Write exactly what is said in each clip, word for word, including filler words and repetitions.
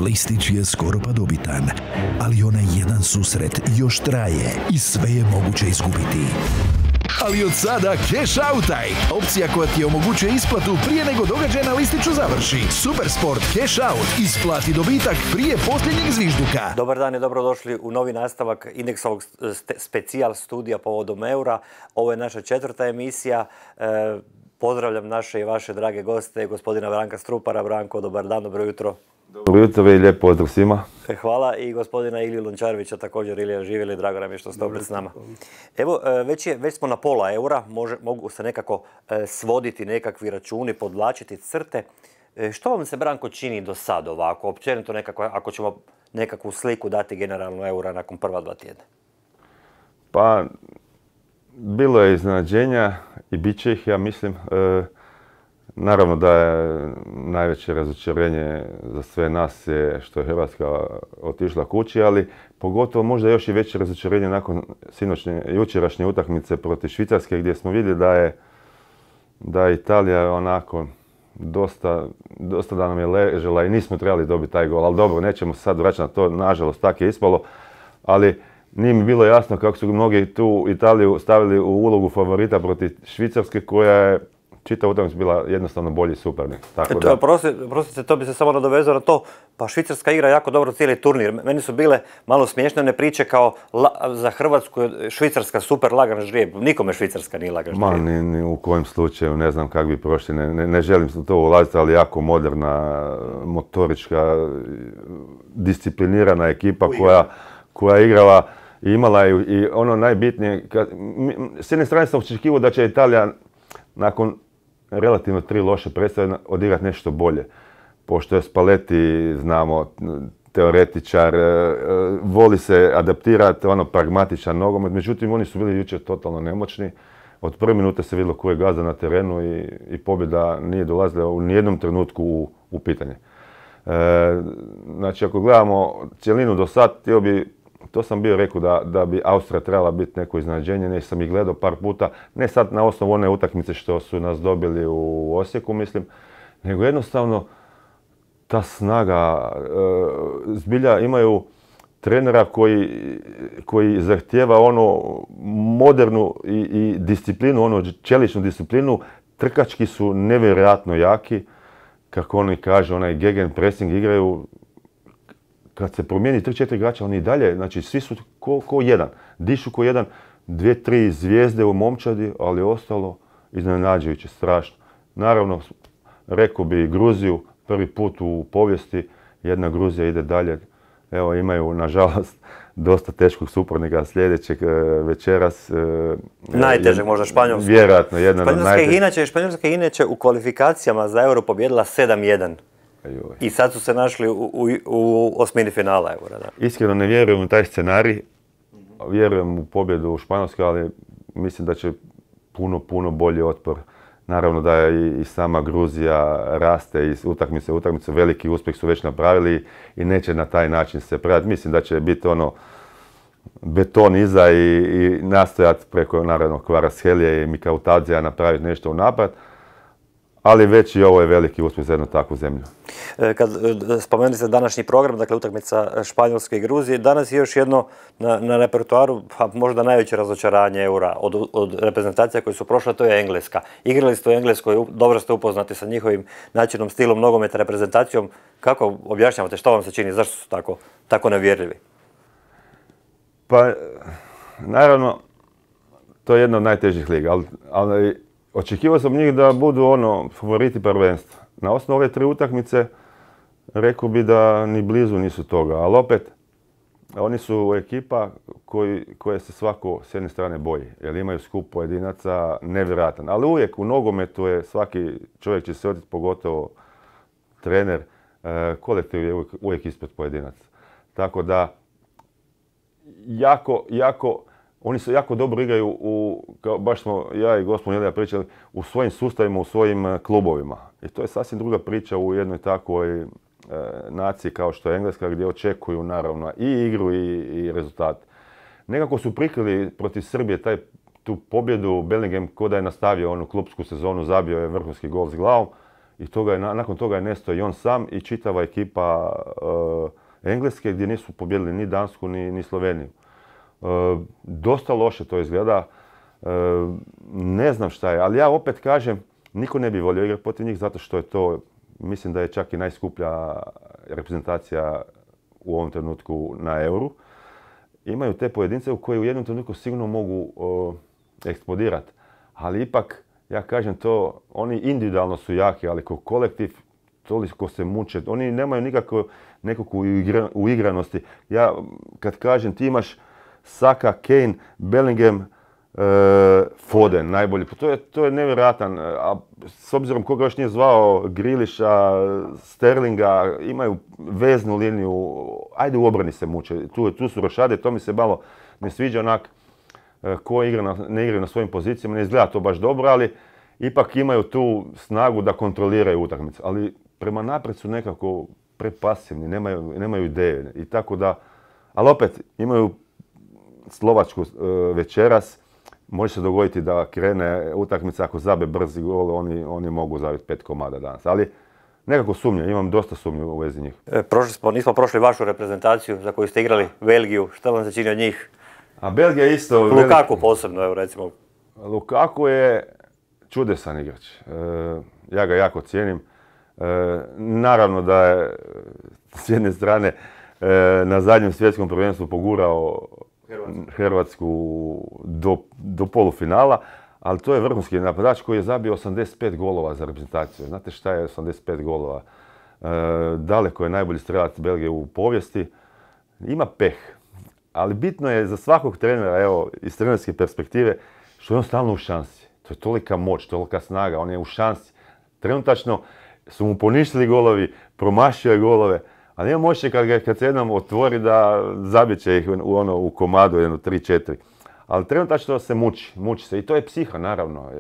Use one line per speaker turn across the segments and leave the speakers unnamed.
Listić je skoro pa dobitan, ali onaj jedan susret još traje i sve je moguće izgubiti. Ali od sada Cash Outaj, opcija koja ti omogućuje isplatu prije nego događaj na listiću završi. Supersport Cash Out, isplati dobitak prije posljednjeg zvižduka.
Dobar dan i dobrodošli u novi nastavak Indeksovog specijal studija povodom eura. Ovo je naša četvrta emisija. E, pozdravljam naše i vaše drage goste, gospodina Branka Strupara. Branko, dobar dan, dobro jutro.
Dobro jutro i lijep pozdrav svima.
Hvala i gospodina Iliju Lončarevića, također. Ilija, živjeli, drago nam je što ste opet s nama. Evo, već, je, već smo na pola eura, može, mogu se nekako e, svoditi nekakvi računi, podvlačiti crte. E, što vam se, Branko, čini do sad ovako, općenito nekako, ako ćemo nekakvu sliku dati generalno eura nakon prva dva tjedna?
Pa, bilo je iznenađenja i bit će ih, ja mislim. E, Naravno da je najveće razočarenje za sve nas je što je Hrvatska otišla kući, ali pogotovo možda još i veće razočarenje nakon sinoćnje, jučerašnje utakmice protiv Švicarske, gdje smo vidjeli da je, da je Italija onako dosta, dosta da nam je ležela i nismo trebali dobiti taj gol. Ali dobro, nećemo se sad vraćati na to, nažalost tako je ispalo, ali nije mi bilo jasno kako su mnogi tu Italiju stavili u ulogu favorita protiv Švicarske, koja je čita utakmica bila jednostavno bolji suparnik.
Prostite, to bi se samo nadovezao na to. Pa Švicarska igra jako dobro cijeli turnir. Meni su bile malo smiješne one priče kao la, za Hrvatsku Švicarska super lagan ždrijeb. Nikome Švicarska nije lagan ždrijeb.
Ma, ni, ni u kojem slučaju, ne znam kako bi prošli. Ne, ne, ne želim se to ulaziti, ali jako moderna, motorička, disciplinirana ekipa koja, koja je igrala i imala i, i ono najbitnije. Kad, s jedne strane sam očekivao da će Italija nakon relativno tri loše predstave odigrati nešto bolje. Pošto je Spalletti, znamo, teoretičar, voli se adaptirati, ono pragmatičan nogomet, međutim oni su bili jučer totalno nemoćni. Od prve minute se vidjelo ko je gazda na terenu i, i pobjeda nije dolazila u nijednom trenutku u, u pitanje. E, znači ako gledamo cjelinu do sad, htio bi, to sam bio rekao da, da bi Austrija trebala biti neko iznenađenje, ne sam ih gledao par puta, ne sad na osnovu one utakmice što su nas dobili u Osijeku, mislim, nego jednostavno ta snaga, e, zbilja imaju trenera koji, koji zahtijeva ono modernu i, i disciplinu, ono čeličnu disciplinu, trkački su nevjerojatno jaki, kako oni kaže, onaj gegen pressing igraju. Kad se promijeni tri četiri igrača, oni i dalje, znači svi su ko, ko jedan, dišu ko jedan, dvije, tri zvijezde u momčadi, ali ostalo iznenađujuće, strašno. Naravno, rekao bi Gruziju, prvi put u povijesti, jedna Gruzija ide dalje. Evo, imaju, nažalost, dosta teškog suparnika sljedećeg večeras.
Najtežeg možda Španjolska.
Vjerojatno, jedna od
najtežeg. Španjolska je inače u kvalifikacijama za Euro pobjedila sedam jedan. I sad su se našli u, u, u osmini finala Eura. Da.
Iskreno ne vjerujem u taj scenarij. Vjerujem u pobjedu u Španjolskoj, ali mislim da će puno, puno bolji otpor. Naravno da je i, i sama Gruzija raste i utakmice, utakmice veliki uspjeh su već napravili i neće na taj način se predati. Mislim da će biti ono beton iza i, i nastojati preko naravno Kvaratskhelia i Mikautadzija napraviti nešto u napad. Ali već i ovo je veliki uspjeh za jednu takvu zemlju.
Kad spomenuli ste današnji program, dakle utakmica Španjolske i Gruzije, danas je još jedno na, na repertoaru, pa možda najveće razočaranje eura od, od reprezentacija koje su prošle, to je Engleska. Igrali ste u Engleskoj, dobro ste upoznati sa njihovim načinom, stilom nogometa, reprezentacijom. Kako objašnjavate, što vam se čini, zašto su tako, tako nevjerljivi?
Pa, naravno, to je jedna od najtežih liga, ali, ali očekivao sam njih da budu ono favoriti prvenstva. Na osnovu ove tri utakmice rekao bi da ni blizu nisu toga, ali opet oni su ekipa koji, koje se svako s jedne strane boji, jer imaju skup pojedinaca nevjerojatan. Ali uvijek u nogometu je svaki čovjek će se otiti, pogotovo trener, kolektiv je uvijek, uvijek ispred pojedinaca. Tako da jako, jako Oni se jako dobro igraju, u, kao baš smo ja i gospodin Ilija pričali, u svojim sustavima, u svojim klubovima. I to je sasvim druga priča u jednoj takvoj e, naciji kao što je Engleska, gdje očekuju naravno i igru i, i rezultat. Nekako su prikrili protiv Srbije taj, tu pobjedu. Bellingham, ko da je nastavio onu klupsku sezonu, zabio je vrhunski gol s glavom. i toga je, nakon toga je nestao i on sam i čitava ekipa uh, Engleske gdje nisu pobjedili ni Dansku ni, ni Sloveniju. Uh, dosta loše to izgleda, uh, ne znam šta je, ali ja opet kažem, niko ne bi volio igrati protiv njih zato što je to, mislim da je čak i najskuplja reprezentacija u ovom trenutku na Euru. Imaju te pojedince u koji u jednom trenutku sigurno mogu uh, eksplodirati, ali ipak, ja kažem to, oni individualno su jaki, ali kao kolektiv toliko se muče, oni nemaju nikako nekakvu uigranosti. Ja kad kažem ti imaš Saka, Kane, Bellingham, e, Foden najbolji, to je, to je nevjerojatan, a s obzirom koga još nije zvao, Grealisha, Sterlinga, imaju veznu liniju, ajde u obrani se muče, tu, tu su rošade, to mi se malo ne sviđa onak ko igra na, ne igra na svojim pozicijama, ne izgleda to baš dobro, ali ipak imaju tu snagu da kontroliraju utakmicu, ali prema naprijed su nekako prepasivni, nemaju, nemaju ideje i tako da, ali opet imaju Slovačku e, večeras, može se dogoditi da krene utakmica, ako zabe brzi gol, oni, oni mogu zabiti pet komada danas, ali nekako sumnje, imam dosta sumnje u vezi njih.
E, prošli smo, nismo prošli vašu reprezentaciju za koju ste igrali, Belgiju, šta vam se čini od njih?
A Belgija je isto...
Lukaku
veliki...
posebno, evo recimo.
Lukaku je čudesan igrač, e, ja ga jako cijenim. E, naravno da je s jedne strane e, na zadnjem svjetskom prvenstvu pogurao Hrvatsku, Hrvatsku do, do polufinala, ali to je vrhunski napadač koji je zabio osamdeset pet golova za reprezentaciju. Znate šta je osamdeset pet golova? E, daleko je najbolji strelac Belgije u povijesti. Ima peh, ali bitno je za svakog trenera, evo, iz trenerske perspektive, što je on stalno u šansi. To je tolika moć, tolika snaga, on je u šansi. Trenutačno su mu poništili golovi, promašio je golove, ali nema moće kad, kad se jednom otvori da zabjeće ih u, ono, u komadu, jedno, tri, četiri. Ali trenutačno se muči, muči se i to je psiha naravno.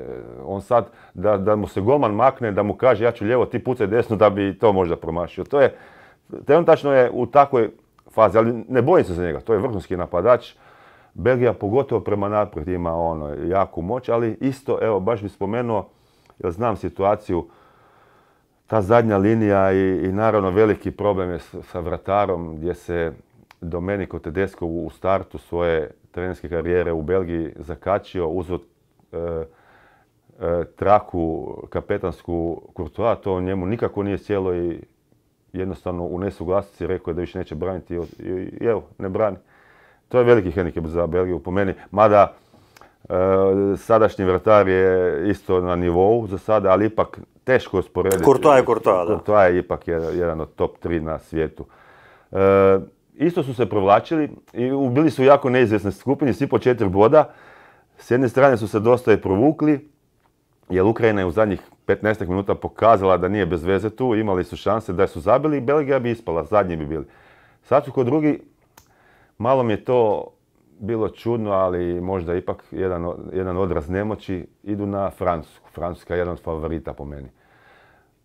On sad, da, da mu se golman makne, da mu kaže ja ću lijevo, ti pucaj desno da bi to možda promašio. To je, trenutačno je u takvoj fazi, ali ne bojim se za njega, to je vrhunski napadač. Belgija pogotovo prema naprijed ima ono, jaku moć, ali isto, evo, baš bih spomenuo, jer znam situaciju, ta zadnja linija i, i naravno veliki problem je sa vratarom gdje se Domenico Tedesco u startu svoje trenerske karijere u Belgiji zakačio, uzeo e, e, traku kapetansku Courtois, to njemu nikako nije sjelo i jednostavno u nesuglasici rekao je da više neće braniti i, i, i evo, ne brani. To je veliki hendikep za Belgiju po meni, mada e, sadašnji vratar je isto na nivou za sada, ali ipak teško usporediti.
Courtois je Courtois, da.
Courtois je ipak jedan od top tri na svijetu. E, isto su se provlačili i bili su u jako neizvjesnoj skupini, svi po četiri boda. S jedne strane su se dosta i provukli, jer Ukrajina je u zadnjih petnaest minuta pokazala da nije bez veze tu, imali su šanse da su zabili i Belgija bi ispala, zadnji bi bili. Sad su kod drugi, malo mi je to bilo čudno, ali možda ipak jedan, jedan odraz nemoći, idu na Francusku. Francuska je jedan od favorita po meni.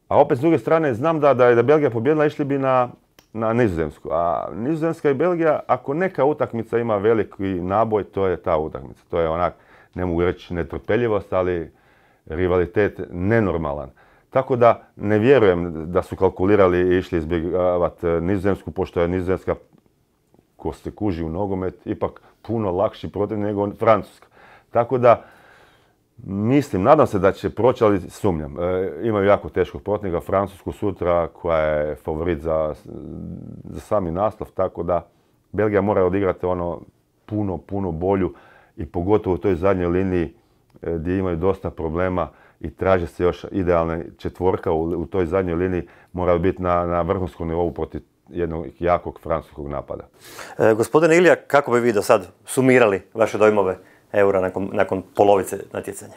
A opet s druge strane, znam da, da je da Belgija pobjedila, išli bi na, na Nizozemsku. A Nizozemska i Belgija, ako neka utakmica ima veliki naboj, to je ta utakmica. To je onak, ne mogu reći netrpeljivost, ali rivalitet nenormalan. Tako da ne vjerujem da su kalkulirali i išli izbjegavati Nizozemsku, pošto je Nizozemska, ko se kuži u nogomet, ipak puno lakši protiv nego Francuska. Tako da, mislim, nadam se da će proći, ali sumnjam. E, imaju jako teškog protivnika, Francusku sutra, koja je favorit za, za sami naslov, tako da Belgija mora odigrati ono puno, puno bolju i pogotovo u toj zadnjoj liniji e, gdje imaju dosta problema i traže se još idealna četvorka u, u toj zadnjoj liniji, mora biti na, na vrhunskom nivou protiv jednog jakog francuskog napada.
E, gospodine Ilija, kako bi vi do sad sumirali vaše dojmove Eura nakon, nakon polovice natjecanja?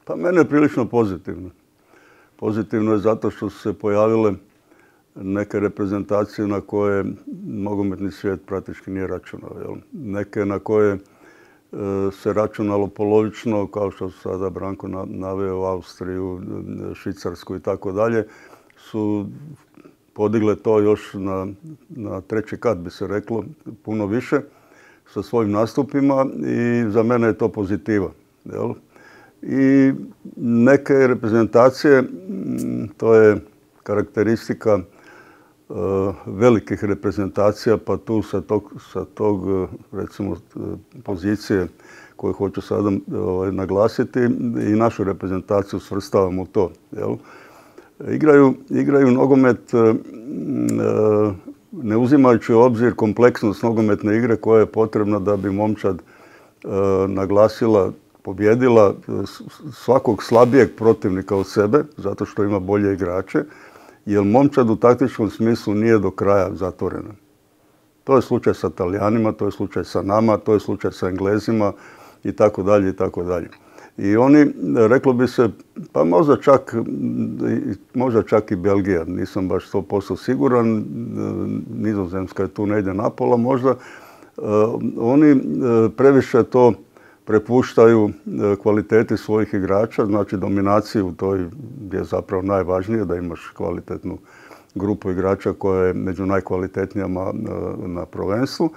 Pa mene je prilično pozitivno. Pozitivno je zato što su se pojavile neke reprezentacije na koje nogometni svijet praktički nije računao. Jel? Neke na koje e, se računalo polovično, kao što su sada Branko naveo, Austriju, Švicarsku i tako dalje, su podigle to još na, na treći kat, bi se reklo, puno više sa svojim nastupima i za mene je to pozitiva. Jel? i neke reprezentacije, to je karakteristika velikih reprezentacija, pa tu sa tog, sa tog recimo pozicije koju hoću sada ovaj, naglasiti i našu reprezentaciju svrstavam u to. Jel? Igraju, igraju nogomet e, ne uzimajući u obzir kompleksnost nogometne igre koja je potrebna da bi momčad e, naglasila, pobjedila svakog slabijeg protivnika od sebe, zato što ima bolje igrače, jer momčad u taktičkom smislu nije do kraja zatvorena. To je slučaj sa Talijanima, to je slučaj sa nama, to je slučaj sa Englezima i tako dalje i tako dalje. I oni, reklo bi se, pa možda čak, možda čak i Belgija, nisam baš sto posto siguran, Nizozemska je tu negdje napola možda, oni previše to prepuštaju kvaliteti svojih igrača, znači dominaciju u toj gdje je zapravo najvažnije da imaš kvalitetnu grupu igrača koja je među najkvalitetnijama na prvenstvu,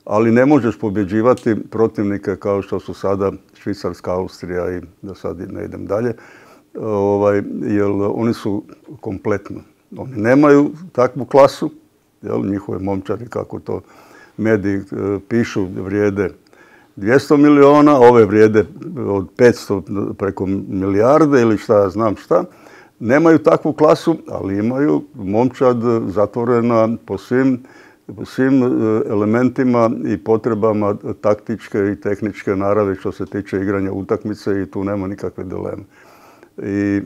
ali ne možeš pobjeđivati protivnike kao što su sada Švicarska, Austrija i da sad ne idem dalje, ovaj, jer oni su kompletno. Oni nemaju takvu klasu, jel, njihove momčadi, kako to mediji pišu, vrijede dvjesto miliona, ove vrijede od petsto preko milijarde ili šta ja znam šta. Nemaju takvu klasu, ali imaju momčad zatvorena po svim, po svim elementima i potrebama taktičke i tehničke naravi što se tiče igranja utakmice i tu nema nikakve dileme. I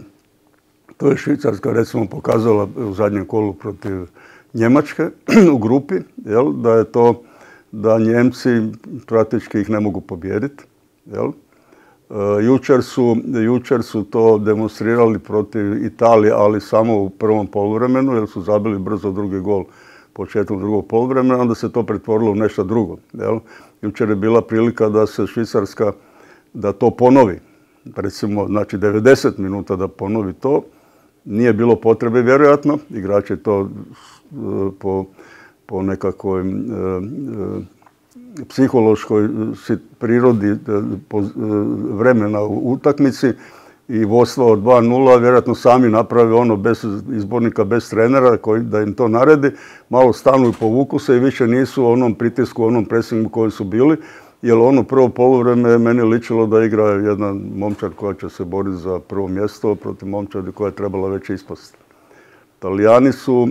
to je Švicarska recimo pokazala u zadnjem kolu protiv Njemačke u grupi, jel, da je to da Njemci praktički ih ne mogu pobijediti. Jel? E, jučer, su, jučer su to demonstrirali protiv Italije, ali samo u prvom poluvremenu, jer su zabili brzo drugi gol početkom drugog poluvremena, onda se to pretvorilo u nešto drugo. Jel? Jučer je bila prilika da se Švicarska, da to ponovi. Recimo, znači devedeset minuta da ponovi to. Nije bilo potrebe, vjerojatno. Igrači to po po nekakvoj e, e, psihološkoj prirodi e, po, e, vremena u utakmici i vodstvo od dva nula, vjerojatno sami naprave ono bez izbornika, bez trenera koji da im to naredi, malo stanu i povuku se i više nisu u onom pritisku, u onom presingu koji su bili, jer ono prvo poluvreme je meni ličilo da igra jedna momčad koja će se boriti za prvo mjesto protiv momčadi koja je trebala već ispasti. Talijani su...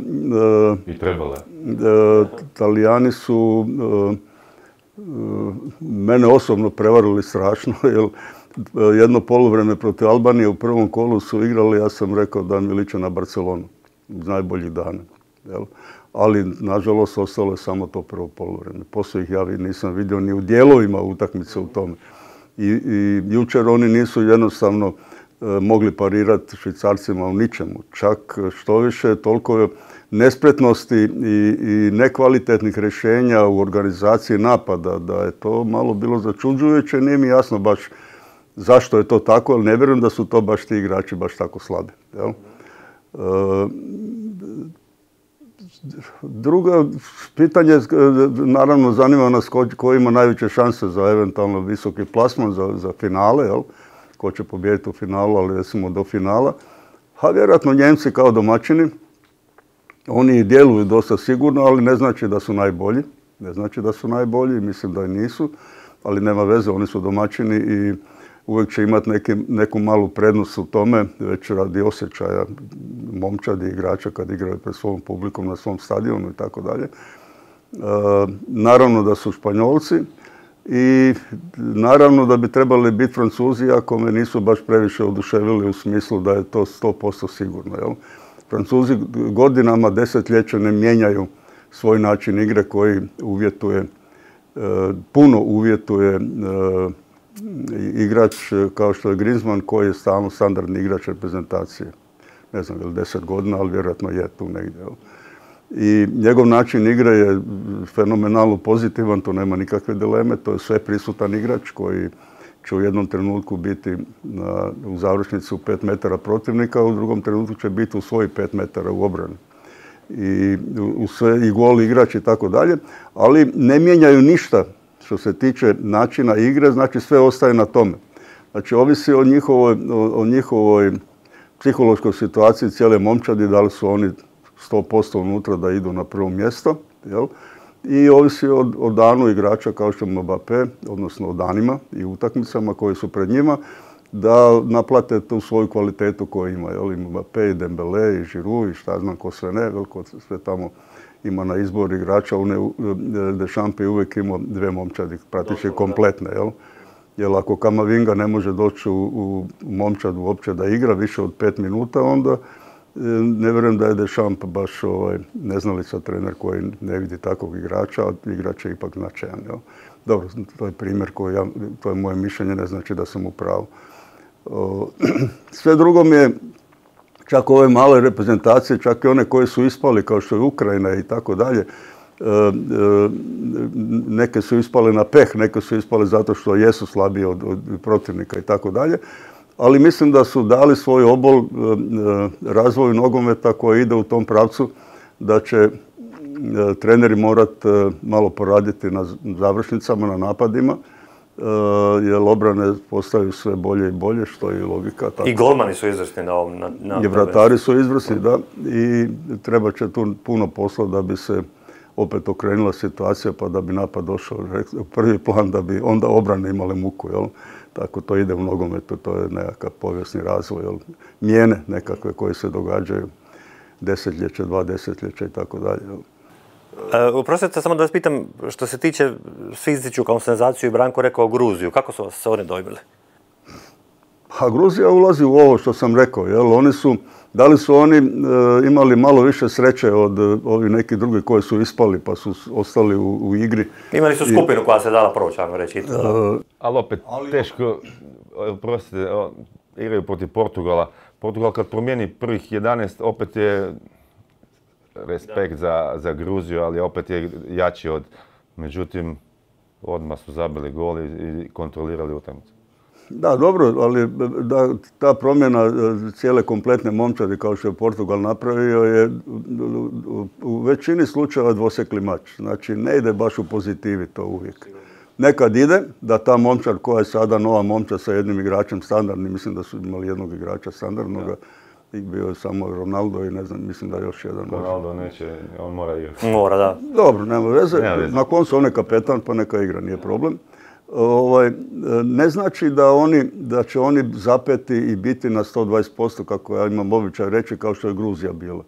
E,
I trebala.
E, Talijani su e, e, mene osobno prevarili strašno, jer jedno poluvreme protiv Albanije u prvom kolu su igrali, ja sam rekao da mi liče na Barcelonu, iz najboljih dana. Jel? Ali, nažalost, ostalo je samo to prvo poluvreme. Poslije ih ja nisam vidio ni u dijelovima utakmice u tome. I, i jučer oni nisu jednostavno mogli parirati Švicarcima u ničemu. Čak što više, toliko nespretnosti i, i nekvalitetnih rješenja u organizaciji napada, da je to malo bilo začuđujuće. Nije mi jasno baš zašto je to tako, ali ne vjerujem da su to baš ti igrači baš tako slabi. Jel? E, drugo pitanje, naravno zanima nas ko, ko ima najveće šanse za eventualno visoki plasman, za, za finale, jel? Ko će pobijediti u finalu, ali recimo do finala. A vjerojatno Njemci kao domaćini, oni djeluju dosta sigurno, ali ne znači da su najbolji. Ne znači da su najbolji, mislim da i nisu, ali nema veze, oni su domaćini i uvijek će imati neki, neku malu prednost u tome, već radi osjećaja momčadi igrača kad igraju pred svojom publikom na svom stadionu i tako dalje. Naravno da su Španjolci i naravno da bi trebali biti Francuzi, ako me nisu baš previše oduševili u smislu da je to sto posto sigurno. Jel? Francuzi godinama, desetljeća ne mijenjaju svoj način igre koji uvjetuje, puno uvjetuje igrač kao što je Griezmann, koji je stalno standardni igrač reprezentacije. Ne znam, je li deset godina, ali vjerojatno je tu negdje. Jel? I njegov način igre je fenomenalno pozitivan, to nema nikakve dileme, to je sve prisutan igrač koji će u jednom trenutku biti na, u završnici u pet metara protivnika, a u drugom trenutku će biti u svojih pet metara u obrani. I, u sve, i gol igrač i tako dalje, ali ne mijenjaju ništa što se tiče načina igre, znači sve ostaje na tome. Znači, ovisi o njihovoj, o, o njihovoj psihološkoj situaciji cijele momčadi, da li su oni sto posto unutra da idu na prvo mjesto, jel? I ovisi o, o danu igrača kao što je Mbappé, odnosno o danima i utakmicama koji su pred njima, da naplate tu svoju kvalitetu koju ima. Jel? I Mbappé, i Dembélé, i Giroud, i šta znam ko sve ne, jel? Ko sve tamo ima na izbor igrača. Deschamps je uvijek imao dve momčadi, praktički kompletne. Jel? Jer ako Kamavinga ne može doći u, u momčad uopće da igra više od pet minuta, onda ne vjerujem da je Deschamps baš ovaj, neznalica trener koji ne vidi takvog igrača, a igrač je ipak značajan. Jel? Dobro, to je primjer koji ja, to je moje mišljenje, ne znači da sam u pravu. O, sve drugo mi je, čak ove male reprezentacije, čak i one koje su ispali, kao što je Ukrajina i tako dalje, neke su ispale na peh, neke su ispale zato što jesu slabije od, od protivnika i tako dalje. Ali mislim da su dali svoj obol razvoju nogometa koji ide u tom pravcu da će treneri morati malo poraditi na završnicama, na napadima, jer obrane postaju sve bolje i bolje, što je i logika. Tako.
I golmani su izvrsni na ovom. Na, na
I vratari su izvrsni, da. I treba će tu puno posla da bi se opet okrenula situacija, pa da bi napad došao u prvi plan, da bi onda obrane imale muku, jel? Tako to ide u nogometu, to je nekakav povijesni razvoj, jel? Mijene nekakve koje se događaju desetljeće, dva desetljeća i tako dalje.
Oprostite, samo da vas pitam, što se tiče, svi ističu kao senzaciju i Branko rekao Gruziju, kako su se oni dojmili?
A Gruzija ulazi u ovo što sam rekao, jel? Oni su, da li su oni e, imali malo više sreće od e, ovih nekih drugih koji su ispali pa su ostali u, u igri.
Imali su skupinu I, koja se dala proći, ajmo reći. Uh,
ali opet teško, oprostite, igraju protiv Portugala. Portugal kad promijeni prvih jedanaest, opet je respekt za, za Gruziju, ali opet je jači od, međutim, odmah su zabili gol i, i kontrolirali utakmicu.
Da, dobro, ali da, ta promjena cijele kompletne momčadi kao što je Portugal napravio je u većini slučajeva dvosekli mač. Znači ne ide baš u pozitivi to uvijek. Nekad ide da ta momčad koja je sada nova momčad sa jednim igračem standardnim, mislim da su imali jednog igrača standardnog, i bio je samo Ronaldo i ne znam, mislim da još jedan.
Ronaldo neće, on mora igrati.
Mora, da.
Dobro, nema veze. Nema veze. Na koncu on je kapetan pa neka igra, nije problem. Ovaj, ne znači da, oni, da će oni zapeti i biti na sto dvadeset posto, kako ja imam običaj reći, kao što je Gruzija bila.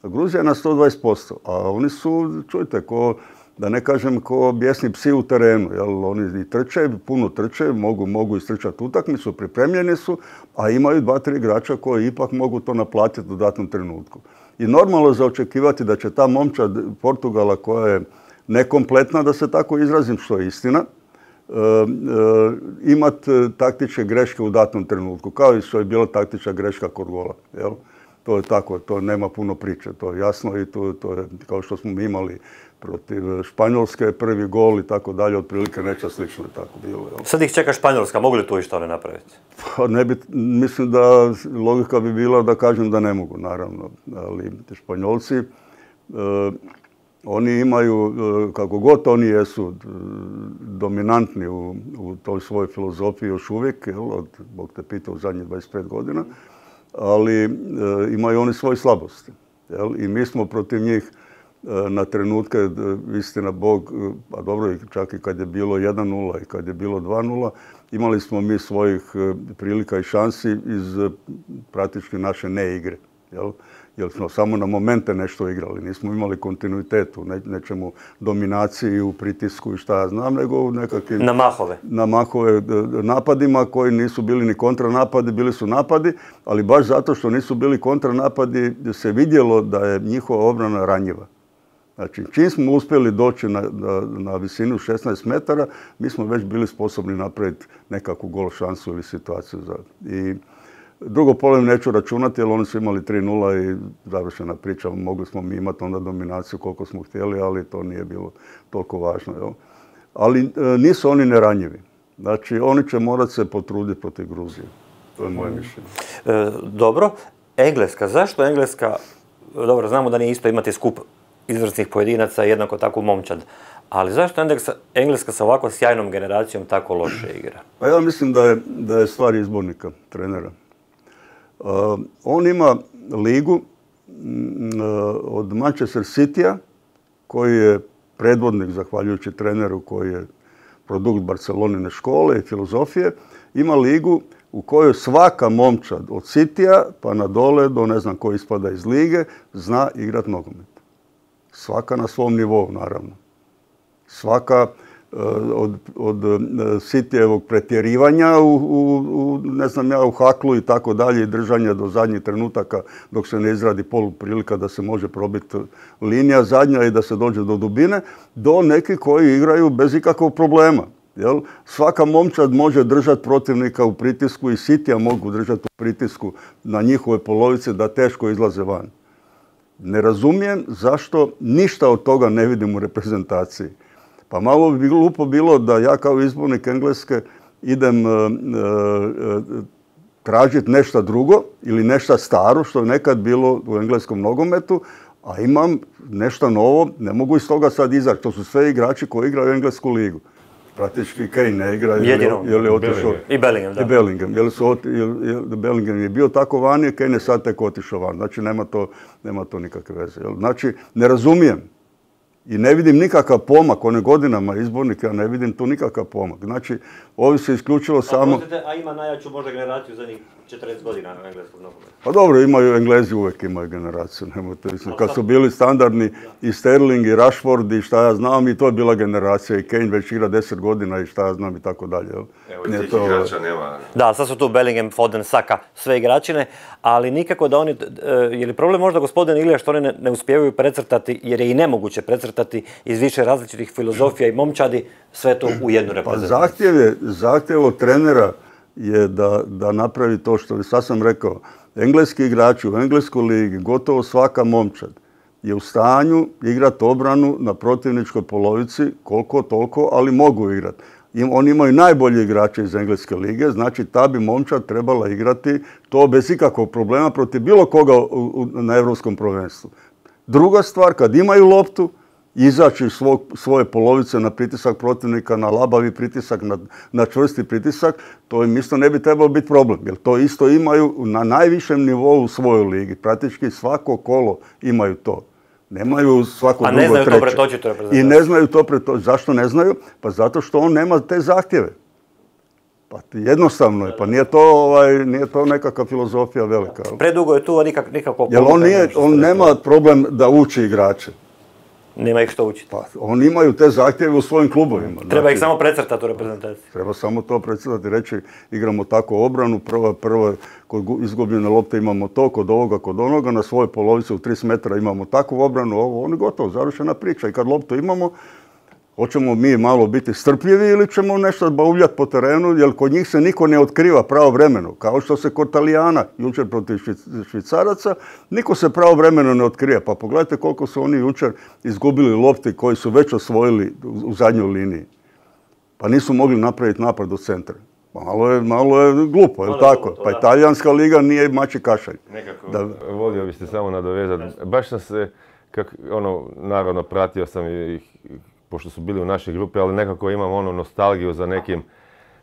Gruzija je na sto dvadeset posto, a oni su, čujte, ko, da ne kažem, ko bijesni psi u terenu. Jel? Oni i trče, puno trče, mogu, mogu istrčati utakmicu, pripremljeni su, a imaju dva, tri igrača koji ipak mogu to naplatiti u datom trenutku. I normalno je za očekivati da će ta momčad Portugala, koja je nekompletna, da se tako izrazim, što je istina, Uh, uh, imati taktičke greške u datom trenutku, kao i što je bila taktička greška kod gola. Jel? To je tako, to nema puno priče, to je jasno i to, to je kao što smo imali protiv Španjolske, prvi gol i tako dalje, otprilike neće slično tako bilo. Jel?
Sad ih čeka Španjolska, mogu li tu i što ne napraviti?
Pa ne bi, mislim da logika bi bila da kažem da ne mogu, naravno, ali Španjolci uh, oni imaju, kako god oni jesu, dominantni u, u toj svojoj filozofiji još uvijek, jel, od, Bog te pita, u zadnjih dvadeset pet godina, ali e, imaju oni svoje slabosti. Jel, i mi smo protiv njih e, na trenutke, istina Bog, a dobro, čak i kad je bilo jedan nula i kad je bilo dva nula, imali smo mi svojih e, prilika i šansi iz e, praktički naše neigre. Jel? Jer smo samo na momente nešto igrali, nismo imali kontinuitet u nečemu dominaciji, u pritisku i šta ja znam, nego u nekakvim...
Na mahove.
Na mahove napadima koji nisu bili ni kontranapadi, bili su napadi, ali baš zato što nisu bili kontranapadi se vidjelo da je njihova obrana ranjiva. Znači, čim smo uspjeli doći na, na, na visinu šesnaest metara, mi smo već bili sposobni napraviti nekakvu gol šansu ili situaciju. Za... I, drugo polovreme neću računati, jer oni su imali tri nula i završena priča. Mogli smo mi imati onda dominaciju koliko smo htjeli, ali to nije bilo toliko važno. Jel? Ali e, nisu oni neranjivi. Znači, oni će morati se potruditi protiv Gruzije. To je moje mišljenje.
E, dobro. Engleska. Zašto Engleska? Dobro, znamo da nije isto imati skup izvrsnih pojedinaca, jednako tako momčad. Ali zašto Engleska sa ovako sjajnom generacijom tako loše igra?
Pa ja mislim da je, da je stvar izbornika, trenera. Uh, on ima ligu uh, od Manchester Citya, koji je predvodnik, zahvaljujući treneru koji je produkt Barcelonine škole i filozofije, ima ligu u kojoj svaka momčad od Citya pa na dole do ne znam ko ispada iz lige zna igrat nogomet. Svaka na svom nivou, naravno. Svaka od, od Cityjevog pretjerivanja u, u, u, ne znam ja, u haklu i tako dalje i držanja do zadnjih trenutaka dok se ne izradi poluprilika da se može probiti linija zadnja i da se dođe do dubine, do nekih koji igraju bez ikakvog problema. Jel? Svaka momčad može držati protivnika u pritisku i Cityja mogu držati u pritisku na njihove polovice da teško izlaze van. Ne razumijem zašto ništa od toga ne vidim u reprezentaciji. Pa malo bi glupo bilo da ja kao izbornik Engleske idem uh, uh, tražiti nešto drugo ili nešto staro što je nekad bilo u engleskom nogometu, a imam nešto novo, ne mogu iz toga sad izaći. To su sve igrači koji igraju englesku ligu. Praktički Kane ne igra, je li otišao.
I Bellingham, da.
I Bellingham. Je li su oti, je, je, Bellingham je bio tako vani, Kane je sad tek otišao van. Znači nema to, nema to nikakve veze. Jel? Znači ne razumijem. I ne vidim nikakav pomak, one godinama izbornika, ja ne vidim tu nikakav pomak. Znači, ovi se isključivo samo...
A, a ima najjaču možda generaciju za njih četrdeset godina na engleskog nogometa.
Pa dobro, imaju Englezi, uvijek imaju generaciju. Nemojte, kad su bili standardni i Sterling i Rashford i šta ja znam, i to je bila generacija. I Kane već igra deset godina i šta ja znam i tako dalje.
Evo, i tih to... igrača nema.
Da, sad su tu Bellingham, Foden, Saka, sve igračine, ali nikako da oni... Je li problem možda gospodin Ilija što oni ne, ne uspijevaju precrtati, jer je i nemoguće precrtati iz više različitih filozofija i momčadi sve to u jednu reprezentaciju?
Pa zahtjev je, zahtjev od trenera je da, da napravi to što sad sam rekao. Engleski igrači u engleskoj ligi, gotovo svaka momčad, je u stanju igrati obranu na protivničkoj polovici, koliko toliko, ali mogu igrati. Oni imaju najbolje igrače iz engleske lige, znači ta bi momčad trebala igrati to bez ikakvog problema protiv bilo koga u, u, na Europskom prvenstvu. Druga stvar, kad imaju loptu, izaći iz svoje polovice na pritisak protivnika, na labavi pritisak, na, na čvrsti pritisak, to im isto ne bi trebalo biti problem. Jer to isto imaju na najvišem nivou u svojoj ligi. Praktički svako kolo imaju to. Nemaju svako drugo treće.
A ne znaju to pretočiti reprezentaciju.
I ne znaju to pretočiti. Zašto ne znaju? Pa zato što on nema te zahtjeve. Pa jednostavno je, pa nije to, ovaj, nije to nekakva filozofija velika.
Predugo je tu nikak, nikako...
Jer on, nije, on nema problem da uči igrače.
Nema ih što učiti.
Pa, oni imaju te zahtjeve u svojim klubovima.
Treba
znači,
ih samo precrtati u reprezentaciji.
Treba samo to precrtati i reći igramo tako obranu, prva, prva, kod izgubljene lopte imamo to, kod ovoga, kod onoga, na svojoj polovici u trideset metara imamo takvu obranu, ovo, oni gotovo, završena priča. I kad loptu imamo, hoćemo mi malo biti strpljivi ili ćemo nešto bavljati po terenu, jer kod njih se niko ne otkriva pravovremeno. Kao što se kod Talijana, jučer protiv Švicaraca, niko se pravovremeno ne otkrije. Pa pogledajte koliko su oni jučer izgubili lopti koji su već osvojili u zadnjoj liniji. Pa nisu mogli napraviti napad do centra. Malo je, malo je glupo, je li tako? To, pa i talijanska liga nije mači kašalj.
Nekako, da... volio biste samo nadovezati. Baš sam se, kak, ono, naravno pratio sam ih, pošto su bili u našoj grupi, ali nekako imam ono nostalgiju za nekim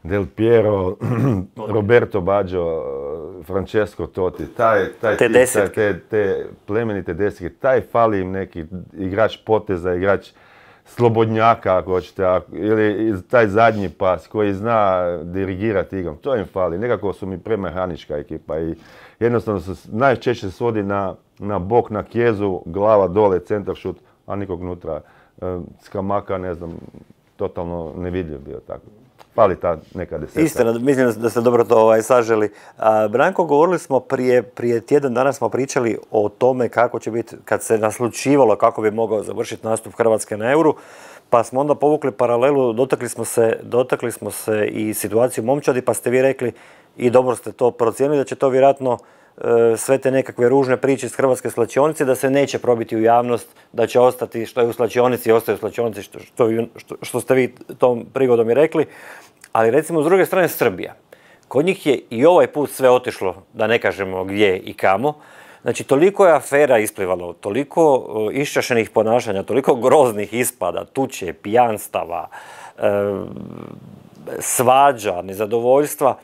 Del Piero, Roberto Baggio, Francesco Totti, taj, taj
te,
tip, taj, te, te plemenite desetke, taj fali im neki igrač poteza, igrač slobodnjaka, ako hoćete, ili taj zadnji pas koji zna dirigirati igrom, to im fali. Nekako su mi premehanička ekipa i jednostavno se najčešće svodi na, na bok, na kjezu, glava dole, centar šut, a nikog unutra. Skamaka, ne znam, totalno nevidljiv bio tako. Fali ta neka desetka.
Istina, mislim da ste dobro to ovaj, saželi. A, Branko, govorili smo prije, prije tjedan dana smo pričali o tome kako će biti, kad se naslučivalo kako bi mogao završiti nastup Hrvatske na Euru, pa smo onda povukli paralelu, dotakli smo se, dotakli smo se i situaciju momčadi, pa ste vi rekli i dobro ste to procijenili da će to vjerojatno sve te nekakve ružne priče iz hrvatske slačionice, da se neće probiti u javnost, da će ostati što je u slačionici, ostaje u slačionici, što, što, što, što ste vi tom prigodom i rekli. Ali recimo s druge strane Srbija. Kod njih je i ovaj put sve otišlo, da ne kažemo gdje i kamo. Znači, toliko je afera isplivalo, toliko iščašenih ponašanja, toliko groznih ispada, tuče, pijanstava, svađa, nezadovoljstva.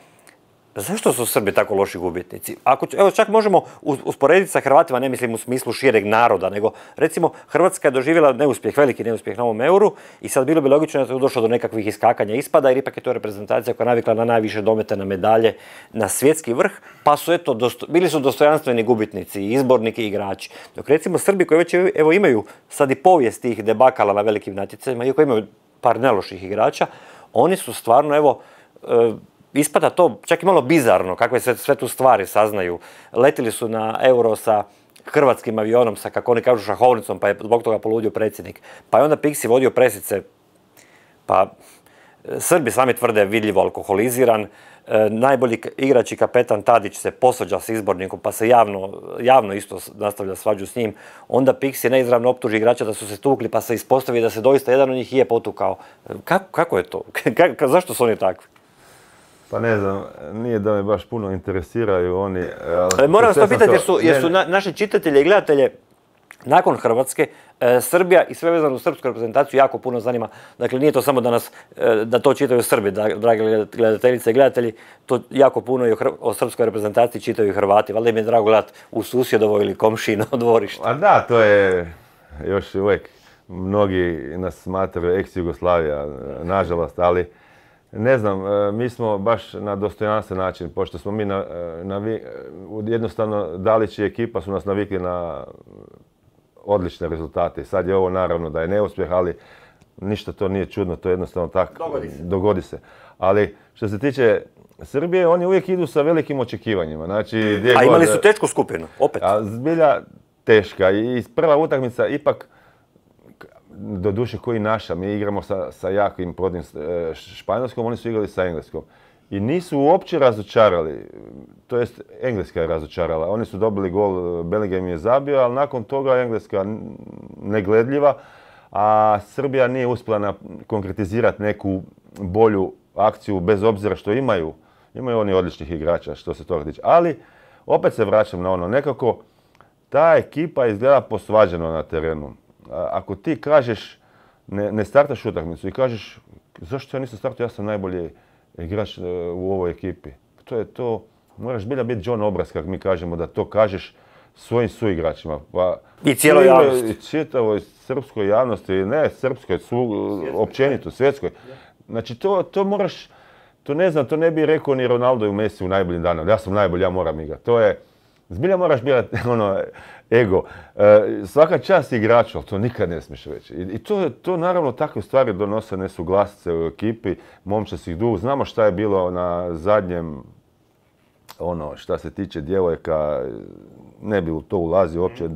Zašto su Srbi tako loši gubitnici? Ako, evo, čak možemo usporediti sa Hrvatima, ne mislim u smislu šireg naroda, nego recimo Hrvatska je doživjela neuspjeh, veliki neuspjeh na ovom euru i sad bilo bi logično da je došlo do nekakvih iskakanja ispada, jer ipak je to reprezentacija koja je navikla na najviše domete, na medalje, na svjetski vrh, pa su eto, dosto, bili su dostojanstveni gubitnici, izborniki i igrači. Dok recimo Srbi koji već evo, imaju sad i povijest tih debakala na velikim natjecanjima, iako imaju par neloših igrača, oni su stvarno, evo, ispada to čak i malo bizarno, kakve sve, sve tu stvari saznaju. Letili su na euro sa hrvatskim avionom, sa, kako oni kažu, šahovnicom, pa je zbog toga poludio predsjednik. Pa je onda Pixi vodio presice, pa Srbi sami tvrde vidljivo alkoholiziran. E, najbolji igrač i kapetan Tadić se posvađa s izbornikom, pa se javno, javno isto nastavlja svađu s njim. Onda Pixi neizravno optuži igrača da su se tukli, pa se ispostavi da se doista jedan od njih je potukao. Kako, kako je to? Kako, zašto su oni takvi?
Pa ne znam, nije da me baš puno interesiraju oni.
Ali moram vas to pitati jer su, jer su na, naši čitatelji i gledatelje nakon Hrvatske, e, Srbija i sve vezano u srpsku reprezentaciju jako puno zanima. Dakle, nije to samo da, nas, e, da to čitaju Srbi, da, dragi gledateljice i gledatelji, to jako puno i o, o srpskoj reprezentaciji čitaju i Hrvati. Valjda im je drago gledati u susjedovo ili komšino dvorište.
A da, to je još uvijek, mnogi nas smatraju ex-Jugoslavija, nažalost, ali ne znam, mi smo baš na dostojanstven način, pošto smo mi na, na, jednostavno Dalić i ekipa su nas navikli na odlične rezultate. Sad je ovo naravno da je neuspjeh, ali ništa to nije čudno, to je jednostavno tako, dogodi se. Dogodi se. Ali što se tiče Srbije, oni uvijek idu sa velikim očekivanjima. Znači,
a imali su tešku skupinu, opet.
A zbilja teška i prva utakmica ipak, do duše koji naša, mi igramo sa, sa jakim prodnim Španjolskom, oni su igrali sa Engleskom. I nisu uopće razočarali, to jest Engleska je razočarala. Oni su dobili gol, Bellingham je zabio, ali nakon toga Engleska negledljiva, a Srbija nije uspjela konkretizirati neku bolju akciju, bez obzira što imaju. Imaju oni odličnih igrača što se toga tiče. Ali, opet se vraćam na ono, nekako ta ekipa izgleda posvađano na terenu. Ako ti kažeš, ne, ne startaš utakmicu i kažeš zašto ja nisam startao, ja sam najbolji igrač u ovoj ekipi. To je to, moraš bilja biti John Obraz, kako mi kažemo, da to kažeš svojim suigračima. Pa,
I cijeloj javnosti.
I čitavoj srpskoj javnosti, ne srpskoj, su, općenito, svjetskoj. Znači to, to moraš, to ne znam, to ne bi rekao ni Ronaldo i Messi u najboljim danima. Ja sam najbolji, ja moram igrati. To je, zbilja moraš biti ono, ego. E, svaka čast igraču, ali to nikad ne smiješ reći. I, i to, to naravno takve stvari donose nesuglasice u ekipi, momčasih duh. Znamo šta je bilo na zadnjem, ono, šta se tiče djevojka, ne bi u to ulazio uopće.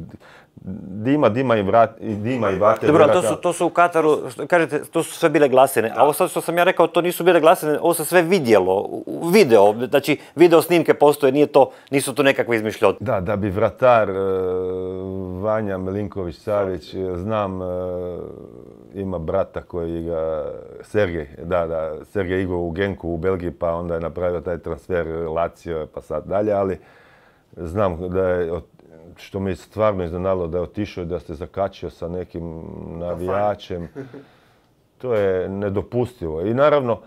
Dima, dima i, vrat, dima i vatre.
Dobro, to su, to su u Kataru, što, kažete, to su sve bile glasine. A ovo sad što sam ja rekao, to nisu bile glasine, ovo se sve vidjelo, video. Znači, video snimke postoje, nije to, nisu to nekakve izmišljotine.
Da, da bi vratar uh, Vanja Milinković-Savić, znam, uh, ima brata koji igra, Sergej, da, da, Sergej igrao u Genku u Belgiji, pa onda je napravio taj transfer Lazio, pa sad dalje, ali znam da je, što me stvarno iznenadilo, da je otišao i da se zakačio sa nekim navijačem. To je nedopustivo. I naravno,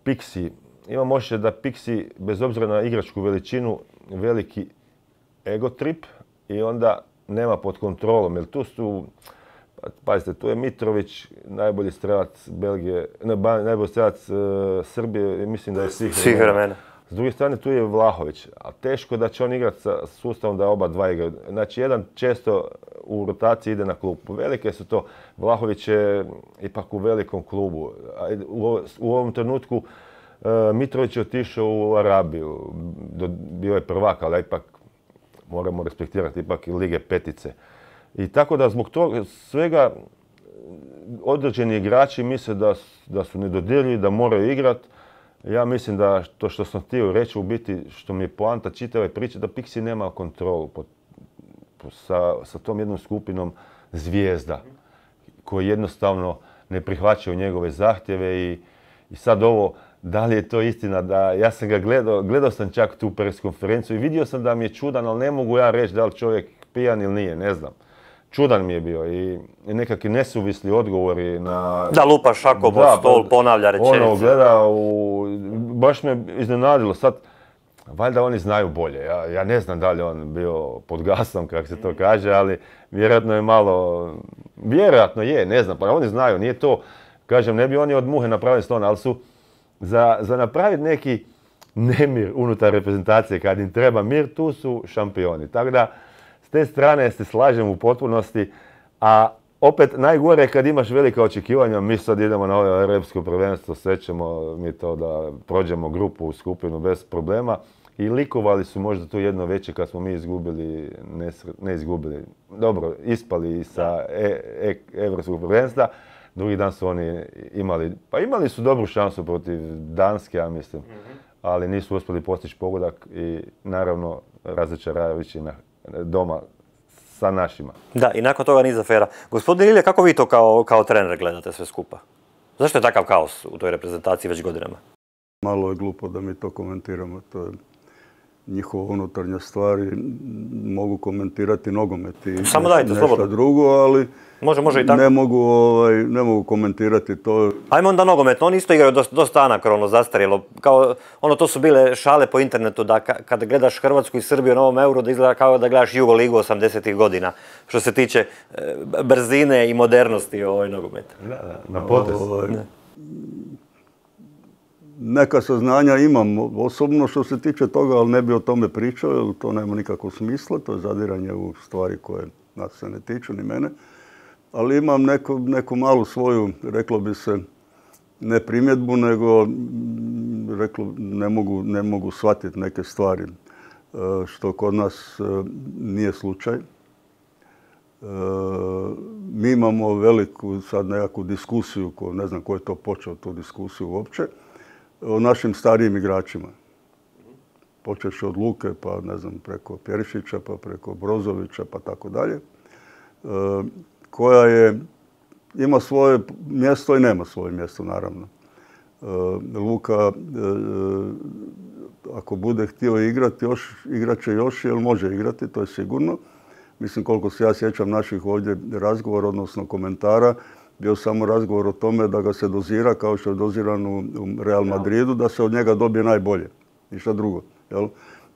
Pixi, imam osjećaj da Pixi, bez obzira na igračku veličinu, veliki ego trip i onda nema pod kontrolom. Jer tu su, pazite, tu je Mitrović, najbolji strelac Belgije, ne, najbolji strelac uh, Srbije, mislim da je svih,
svih vremena.
S druge strane, tu je Vlahović, a teško da će on igrati sa sustavom da oba dva igraju. Znači, jedan često u rotaciji ide na klubu. Velike su to. Vlahović je ipak u velikom klubu. U ovom trenutku Mitrović je otišao u Arabiju. Bio je prvak, ali ipak moramo respektirati ipak i Lige petice. I tako da zbog toga svega određeni igrači misle da, da su nedodirljivi, da moraju igrati. Ja mislim da to što sam htio reći u biti, što mi je poanta čitave priče, da Pixi nema kontrolu pod, pod, sa, sa tom jednom skupinom zvijezda koji jednostavno ne prihvaćaju njegove zahtjeve i, i sad ovo, da li je to istina, da ja sam ga gledao, gledao sam čak tu pres konferenciju i vidio sam da mi je čudan, ali ne mogu ja reći da li čovjek pijan ili nije, ne znam. Čudan mi je bio i nekakvi nesuvisli odgovori na...
Da lupa šakom od stol, ponavlja rečenice.
Ono, gleda u... Baš me iznenadilo. Sad, valjda oni znaju bolje. Ja, ja ne znam da li on bio pod gasom, kako se to kaže, ali vjerojatno je malo... Vjerojatno je, ne znam, pa oni znaju, nije to... Kažem, ne bi oni od muhe napravili slona, ali su za, za napraviti neki nemir unutar reprezentacije, kad im treba mir, tu su šampioni. Tako da, s te strane se slažem u potpunosti, a opet najgore je kad imaš velika očekivanja, mi sad idemo na ovo europsko prvenstvo, sve ćemo mi to da prođemo grupu u skupinu bez problema i likovali su možda tu jedno veće kad smo mi izgubili, ne, ne izgubili, dobro, ispali i sa e, e, europskog prvenstva. Drugi dan su oni imali, pa imali su dobru šansu protiv Danske, ja mislim, mm-hmm. ali nisu uspjeli postići pogodak i naravno razočaravajući na doma sa našima.
Da, i nakon toga niz afera. Gospodin Ilija, kako vi to kao, kao trener gledate sve skupa? Zašto je takav kaos u toj reprezentaciji već godinama?
Malo je glupo da mi to komentiramo. To je njihova unutarnja stvar i mogu komentirati nogomet i
Samo dajte,
nešto
slobodno.
drugo, ali
može, može i tako.
Ne, mogu, ovaj, ne mogu komentirati to.
Ajmo onda nogometno, oni isto igraju dosta, dosta anakrono, zastarjelo. Kao, ono, to su bile šale po internetu da ka, kad gledaš Hrvatsku i Srbiju na ovom Euro da izgleda kao da gledaš Jugo ligu osamdesetih godina. Što se tiče e, brzine i modernosti ovoj nogometa.
Da, da, na potez.
Ovaj, neka saznanja imam osobno što se tiče toga, ali ne bi o tome pričao, jer to nema nikakvog smisla, to je zadiranje u stvari koje nas se ne tiču, ni mene. Ali imam neku, neku malu svoju, reklo bi se, ne primjedbu, nego reklo, ne mogu, ne mogu shvatiti neke stvari, što kod nas nije slučaj. Mi imamo veliku sad nekakvu diskusiju, ko, ne znam ko je to počeo tu diskusiju uopće, o našim starijim igračima. Počevši od Luke, pa ne znam, preko Perišića, pa preko Brozovića, pa tako dalje. Koja je, ima svoje mjesto i nema svoje mjesto, naravno. Luka, ako bude htio igrati, još, igrat će još, jer može igrati, to je sigurno. Mislim, koliko se ja sjećam naših ovdje razgovora, odnosno komentara, bio samo razgovor o tome da ga se dozira, kao što je doziran u Real Madridu, da se od njega dobije najbolje. Ništa drugo. Jel?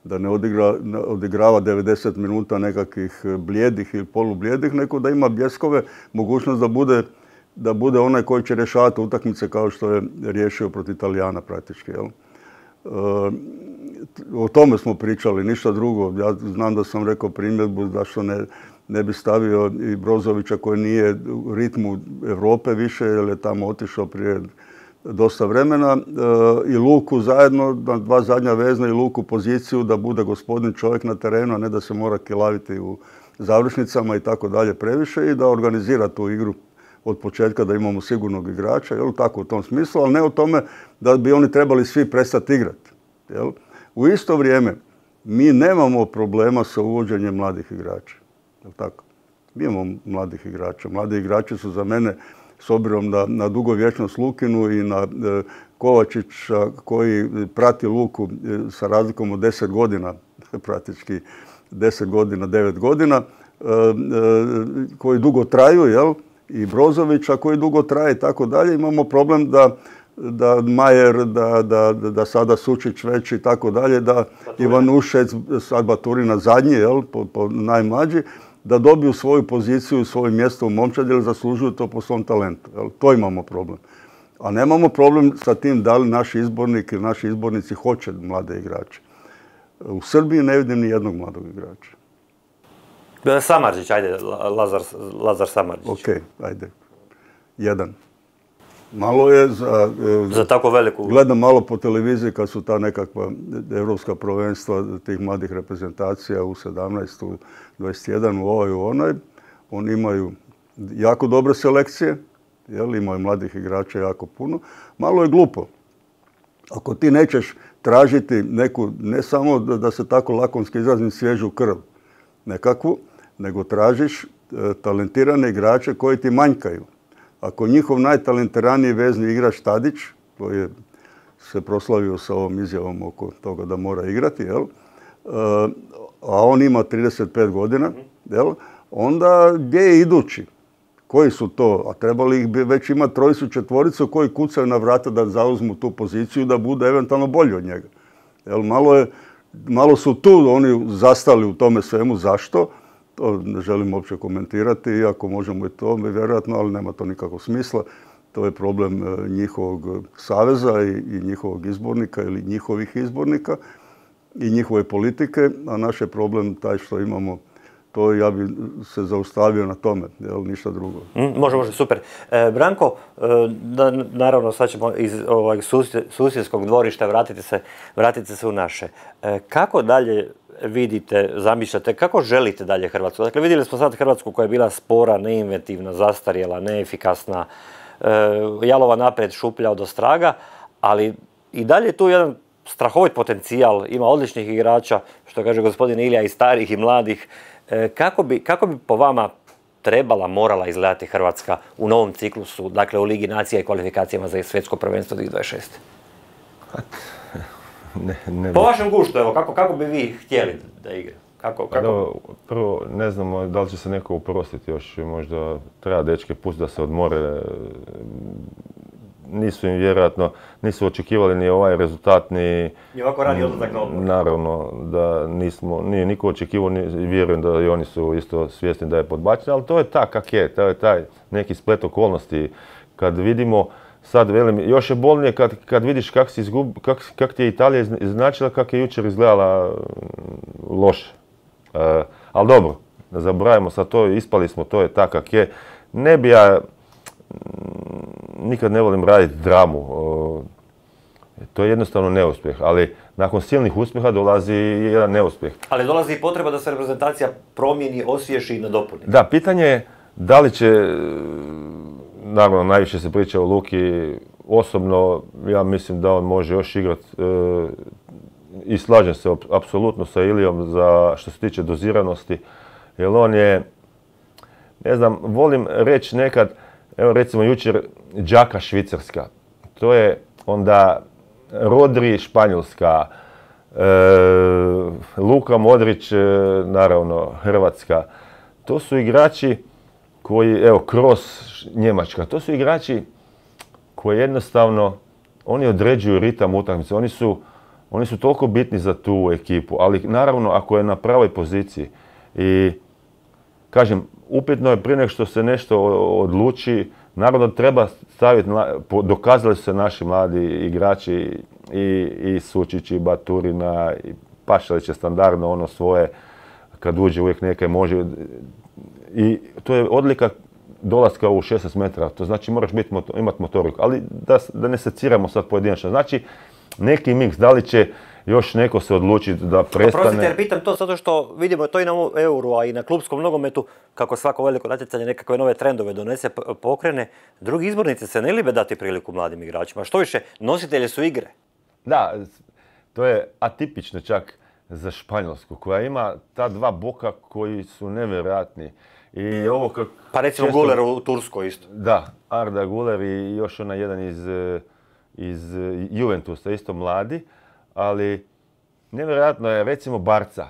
Da ne odigra, odigrava devedeset minuta nekakvih blijedih ili polublijedih, nego da ima bljeskove, mogućnost da bude, da bude onaj koji će rješavati utakmice kao što je riješio protiv Italijana praktički. Jel? E, o tome smo pričali, ništa drugo. Ja znam da sam rekao primjedbu zašto ne, ne bi stavio i Brozovića koji nije u ritmu Europe više, jer je tamo otišao prije dosta vremena, i Luku zajedno, na dva zadnja vezna i Luku poziciju da bude gospodin čovjek na terenu, a ne da se mora kilaviti u završnicama i tako dalje previše i da organizira tu igru od početka da imamo sigurnog igrača, jel, tako u tom smislu, ali ne o tome da bi oni trebali svi prestati igrati. Jel. U isto vrijeme mi nemamo problema sa uvođenjem mladih igrača. Jel tako? Mi imamo mladih igrača. Mladi igrači su za mene, s obzirom na, na dugovječnost Lukinu i na e, Kovačića koji prati Luku e, sa razlikom od deset godina, praktički deset godina, devet godina, e, e, koji dugo traju, jel? I Brozovića koji dugo traje i tako dalje. Imamo problem da, da Majer, da, da, da sada Sučić već i tako dalje, da Ivanušec, sad Baturina zadnji, jel? Po, po najmlađi, da dobiju svoju poziciju, svoje mjesto u momčadi, jer zaslužuju to po svom talentu. Jel? To imamo problem. A nemamo problem sa tim da li naši izbornik ili naši izbornici hoće mlade igrače. U Srbiji ne vidim ni jednog mladog igrača.
Samardžić, ajde, Lazar, Lazar Samardžić.
Ok, ajde. Jedan. Malo je za...
Za tako veliku...
Gledam malo po televiziji kad su ta nekakva evropska prvenstva tih mladih reprezentacija u sedamnaest, u dvadeset jedan, u ovaj, u onaj. Oni imaju jako dobre selekcije, jel, imaju mladih igrača jako puno. Malo je glupo. Ako ti nećeš tražiti neku, ne samo da, da se tako lakonski izrazim, svježu krv nekakvu, nego tražiš e, talentirane igrače koji ti manjkaju. Ako njihov najtalentiraniji vezni igrač Tadić, koji je se proslavio sa ovom izjavom oko toga da mora igrati, jel? A on ima trideset pet godina, jel? Onda gdje je idući? Koji su to? A trebali ih bi već imati trojicu, četvoricu koji kucaju na vrata da zauzmu tu poziciju da bude eventualno bolji od njega. Jel? Malo, je, malo su tu oni zastali u tome svemu. Zašto? To ne želim uopće komentirati, iako možemo i to, vjerojatno, ali nema to nikakvog smisla. To je problem njihovog saveza i njihovog izbornika ili njihovih izbornika i njihove politike, a naš je problem taj što imamo. To ja bi se zaustavio na tome, jel, ništa drugo.
Mm, može, može, super. E, Branko, e, da, naravno sad ćemo iz ovog susjedskog dvorišta vratiti se, vratiti se u naše. E, kako dalje vidite, zamišljate, kako želite dalje Hrvatsku? Dakle, vidjeli smo sad Hrvatsku koja je bila spora, neinventivna, zastarjela, neefikasna, e, jalova naprijed, šuplja od ostraga, ali i dalje je tu jedan strahovit potencijal, ima odličnih igrača, što kaže gospodin Ilija, i starih i mladih. E, kako bi, kako bi po vama trebala, morala izgledati Hrvatska u novom ciklusu, dakle u Ligi nacija i kvalifikacijama za svjetsko prvenstvo dvije tisuće dvadeset šest?
Ne, ne
po vašem guštu, evo, kako, kako bi vi htjeli da igra? Kako, kako?
Da, prvo, ne znamo da li će se neko uprostiti još, možda treba dečke pustiti da se odmore. Nisu im vjerojatno, nisu očekivali ni ovaj rezultat, ni...
I ovako rani odlazak na odmor.
Naravno da nismo, nije niko očekivao, ni, vjerujem da i oni su isto svjesni da je podbačen, ali to je tak kak je, to je taj neki splet okolnosti. Kad vidimo, sad velim, još je bolnije kad, kad vidiš kak, si izgub, kak, kak ti je Italija iznačila, kak je jučer izgledala loše. E, ali dobro, ne zaboravimo sad to, ispali smo, to je tak kak je. Ne bi ja... Nikad ne volim raditi dramu. To je jednostavno neuspjeh, ali nakon silnih uspjeha dolazi jedan neuspjeh.
Ali dolazi i potreba da se reprezentacija promijeni, osviješi i nadopuni.
Da, pitanje je da li će, naravno najviše se priča o Luki, osobno ja mislim da on može još igrati i slažem se apsolutno sa Ilijom za što se tiče doziranosti, jer on je, ne znam, volim reći nekad, evo recimo jučer Đaka Švicarska, to je onda Rodri Španjolska, e, Luka Modrić, e, naravno Hrvatska. To su igrači koji, evo Kroos Njemačka, to su igrači koji jednostavno, oni određuju ritam utakmice, oni su, oni su toliko bitni za tu ekipu, ali naravno ako je na pravoj poziciji i kažem, upitno je prije nego što se nešto odluči, naravno treba staviti, dokazali su se naši mladi igrači i, i Sučić i Baturina, i Pašalić je standardno ono svoje, kad uđe uvijek neke može. I to je odlika dolaska u šesnaest metara, to znači moraš biti, imati motoriku, ali da, da ne seciramo sad pojedinačno. Znači neki miks, da li će još neko se odluči da prestane...
Oprostite, jer pitam to zato što vidimo to i na Euru, a i na klupskom nogometu, kako svako veliko natjecanje nekakve nove trendove donese, pokrene. Drugi izbornici se ne libe dati priliku mladim igračima. Što više, nositelji su igre.
Da, to je atipično čak za Španjolsku, koja ima ta dva boka koji su nevjerojatni. I ovo kak...
Pa recimo često... Guler u Turskoj isto.
Da, Arda Guler i još onaj jedan iz, iz Juventusa, isto mladi. Ali nevjerojatno je recimo Barca,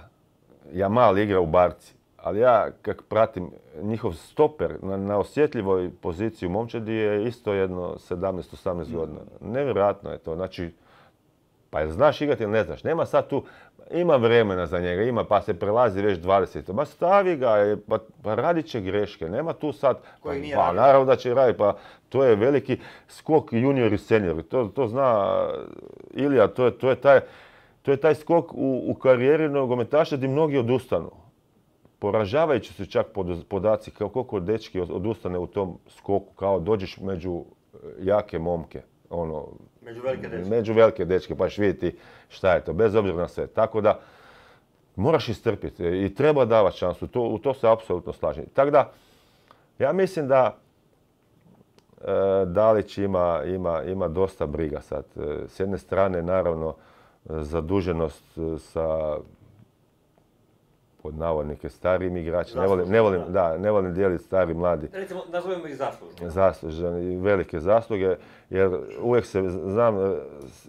Jamal igra u Barci, ali ja kak pratim njihov stoper na, na osjetljivoj poziciji u momčadi je isto jedno sedamnaest osamnaest godina. Nevjerojatno je to, znači, pa jel znaš igrati ili ne znaš, nema sad tu, ima vremena za njega, ima pa se prelazi već dvadeset, ma stavi ga, pa, pa radit će greške, nema tu sad, pa, pa naravno da će raditi, pa to je veliki skok junior i senior, to, to zna Ilija, to je, to je, taj, to je taj skok u, u karijeri nogometaša gdje mnogi odustanu. Poražavajući su čak podaci kao koliko dečki odustane u tom skoku, kao dođeš među jake momke. Ono,
među velike dečke.
Među velike dečke, pa ćeš vidjeti šta je to, bez obzira na sve. Tako da, moraš istrpiti i treba davati šansu, to, u to se apsolutno slažem. Tako da, ja mislim da e, Dalić ima, ima, ima dosta briga sad. E, s jedne strane, naravno, zaduženost sa pod navodnike starijim igračima. Ne volim, ne volim, da, ne volim dijeliti stari, mladi.
Recimo, nazovemo ih zaslužni.
Zasluženi i velike zasluge, jer uvijek se, znam,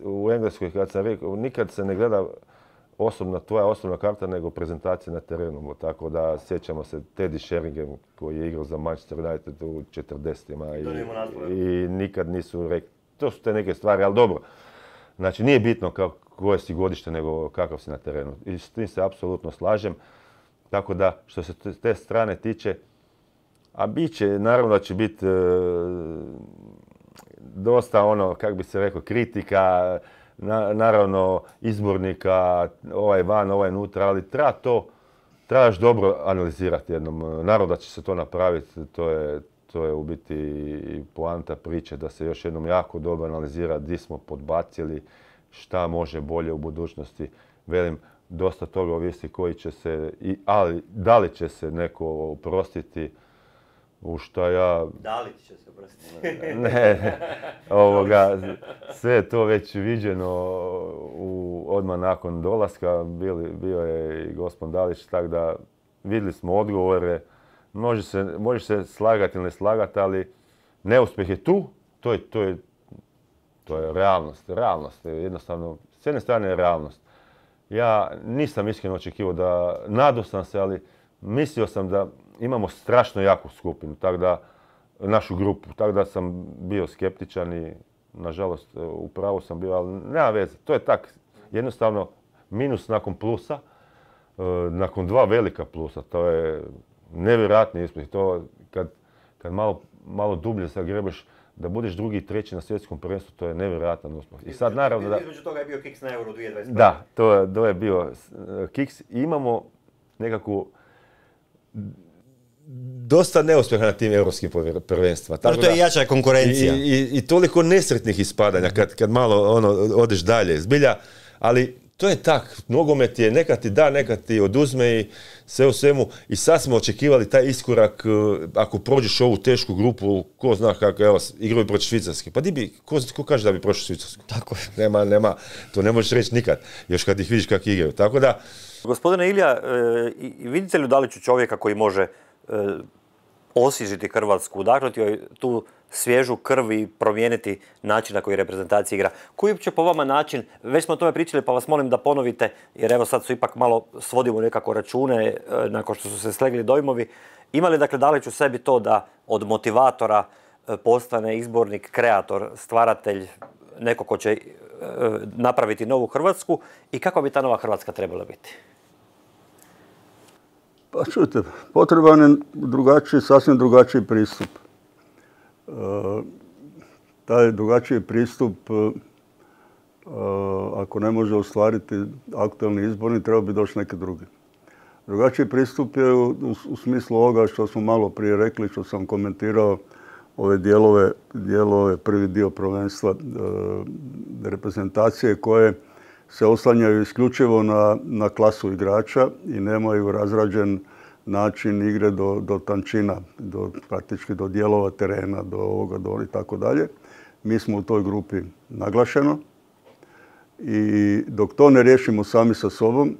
u Engleskoj kad sam rekao, nikad se ne gleda osobna, tvoja osobna karta, nego prezentacija na terenu. Tako da sjećamo se Teddy Sheringham koji je igrao za Manchester United u četrdesetima i, i nikad nisu rekli. To su te neke stvari, ali dobro. Znači, nije bitno koje si godište, nego kakav si na terenu. I s tim se apsolutno slažem. Tako da, što se te strane tiče, a bit će, naravno da će biti e, dosta ono, kako bi se rekao, kritika, na, naravno izbornika, ovaj van, ovaj nutra, ali treba to, trebaš dobro analizirati jednom. Naravno da će se to napraviti, to je, to je u biti i poanta priče, da se još jednom jako dobro analizira gdje smo podbacili, šta može bolje u budućnosti. Velim, dosta toga ovisi koji će se, i, ali da li će se neko oprostiti, u šta ja...
Da li će se oprostiti?
Ne, ovoga, sve je to već viđeno u, odmah nakon dolaska, bili, bio je i gospodin Dalić, tako da vidjeli smo odgovore, može se, može se slagati ili ne slagati, ali neuspjeh je tu, to je, to je, to je realnost, realnost, jednostavno, s jedne strane je realnost. Ja nisam iskreno očekivao da, nadao sam se, ali mislio sam da imamo strašno jaku skupinu, tako da, našu grupu, tako da sam bio skeptičan i, nažalost, u pravu sam bio, ali nema veze. To je tak, jednostavno, minus nakon plusa, nakon dva velika plusa, to je nevjerojatni uspjeh. To kad, kad malo, malo dublje zagrebeš, da budeš drugi i treći na svjetskom prvenstvu, to je nevjerojatan uspjeh. I sad naravno da...
Između toga je bio kiks na Euro dvije tisuće dvadeset prve.
Da, to, to je bio kiks. I imamo nekakvu dosta neuspjeha na tim europskim prvenstva.
Tako to je jača konkurencija.
I, i, i toliko nesretnih ispadanja kad, kad malo ono, odeš dalje. Zbilja, ali to je tak. Nogomet je, neka ti da, neka ti oduzme i sve u svemu. I sad smo očekivali taj iskorak, ako prođeš ovu tešku grupu, ko zna kako, evo, igraju protiv Švicarske. Pa di bi, ko, ko kaže da bi prošao Švicarsku?
Tako je.
Nema, nema, to ne možeš reći nikad, još kad ih vidiš kako igraju. Tako da...
Gospodine Ilija, e, vidite li u Daliću čovjeka koji može e, osvježiti Hrvatsku, udahnuti joj tu svježu krv i promijeniti način na koji reprezentacija igra? Koji uopće po vama način, već smo o tome pričali pa vas molim da ponovite, jer evo sad su ipak malo svodimo nekako račune e, nakon što su se slegli dojmovi. Ima li dakle Dalić u sebi to da od motivatora e, postane izbornik, kreator, stvaratelj, neko ko će e, napraviti novu Hrvatsku i kako bi ta nova Hrvatska trebala biti?
Pa čujte, potreban je drugačiji, sasvim drugačiji pristup. E, taj drugačiji pristup, e, ako ne može ostvariti aktualni izborni, treba bi doći neki drugi. Drugačiji pristup je u, u, u smislu ovoga što smo malo prije rekli, što sam komentirao ove dijelove, dijelove prvi dio prvenstva e, reprezentacije koje se oslanjaju isključivo na, na klasu igrača i nemaju razrađen način igre do, do tančina, do, praktički do dijelova terena, do ovoga, do i tako dalje. Mi smo u toj grupi naglašeno i dok to ne riješimo sami sa sobom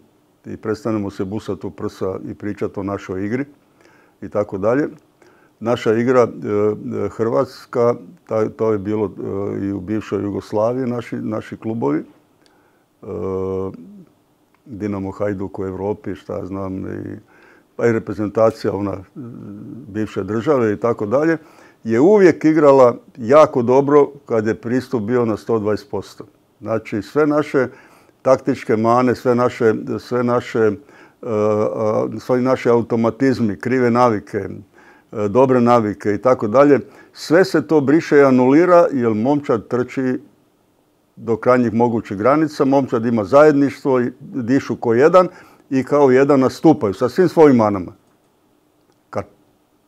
i prestanemo se busati u prsa i pričati o našoj igri i tako dalje, naša igra e, Hrvatska, ta, to je bilo e, i u bivšoj Jugoslaviji, naši, naši klubovi, Dinamo, Hajduk u Europi, šta znam, i, pa i reprezentacija ona bivše države i tako dalje, je uvijek igrala jako dobro kad je pristup bio na sto dvadeset posto. Znači sve naše taktičke mane, sve naše, sve naše, uh, sve naše automatizmi, krive navike, uh, dobre navike i tako dalje, sve se to briše i anulira jer momčad trči do krajnjih mogućih granica, momčad ima zajedništvo, dišu ko jedan i kao jedan nastupaju sa svim svojim manama. Kad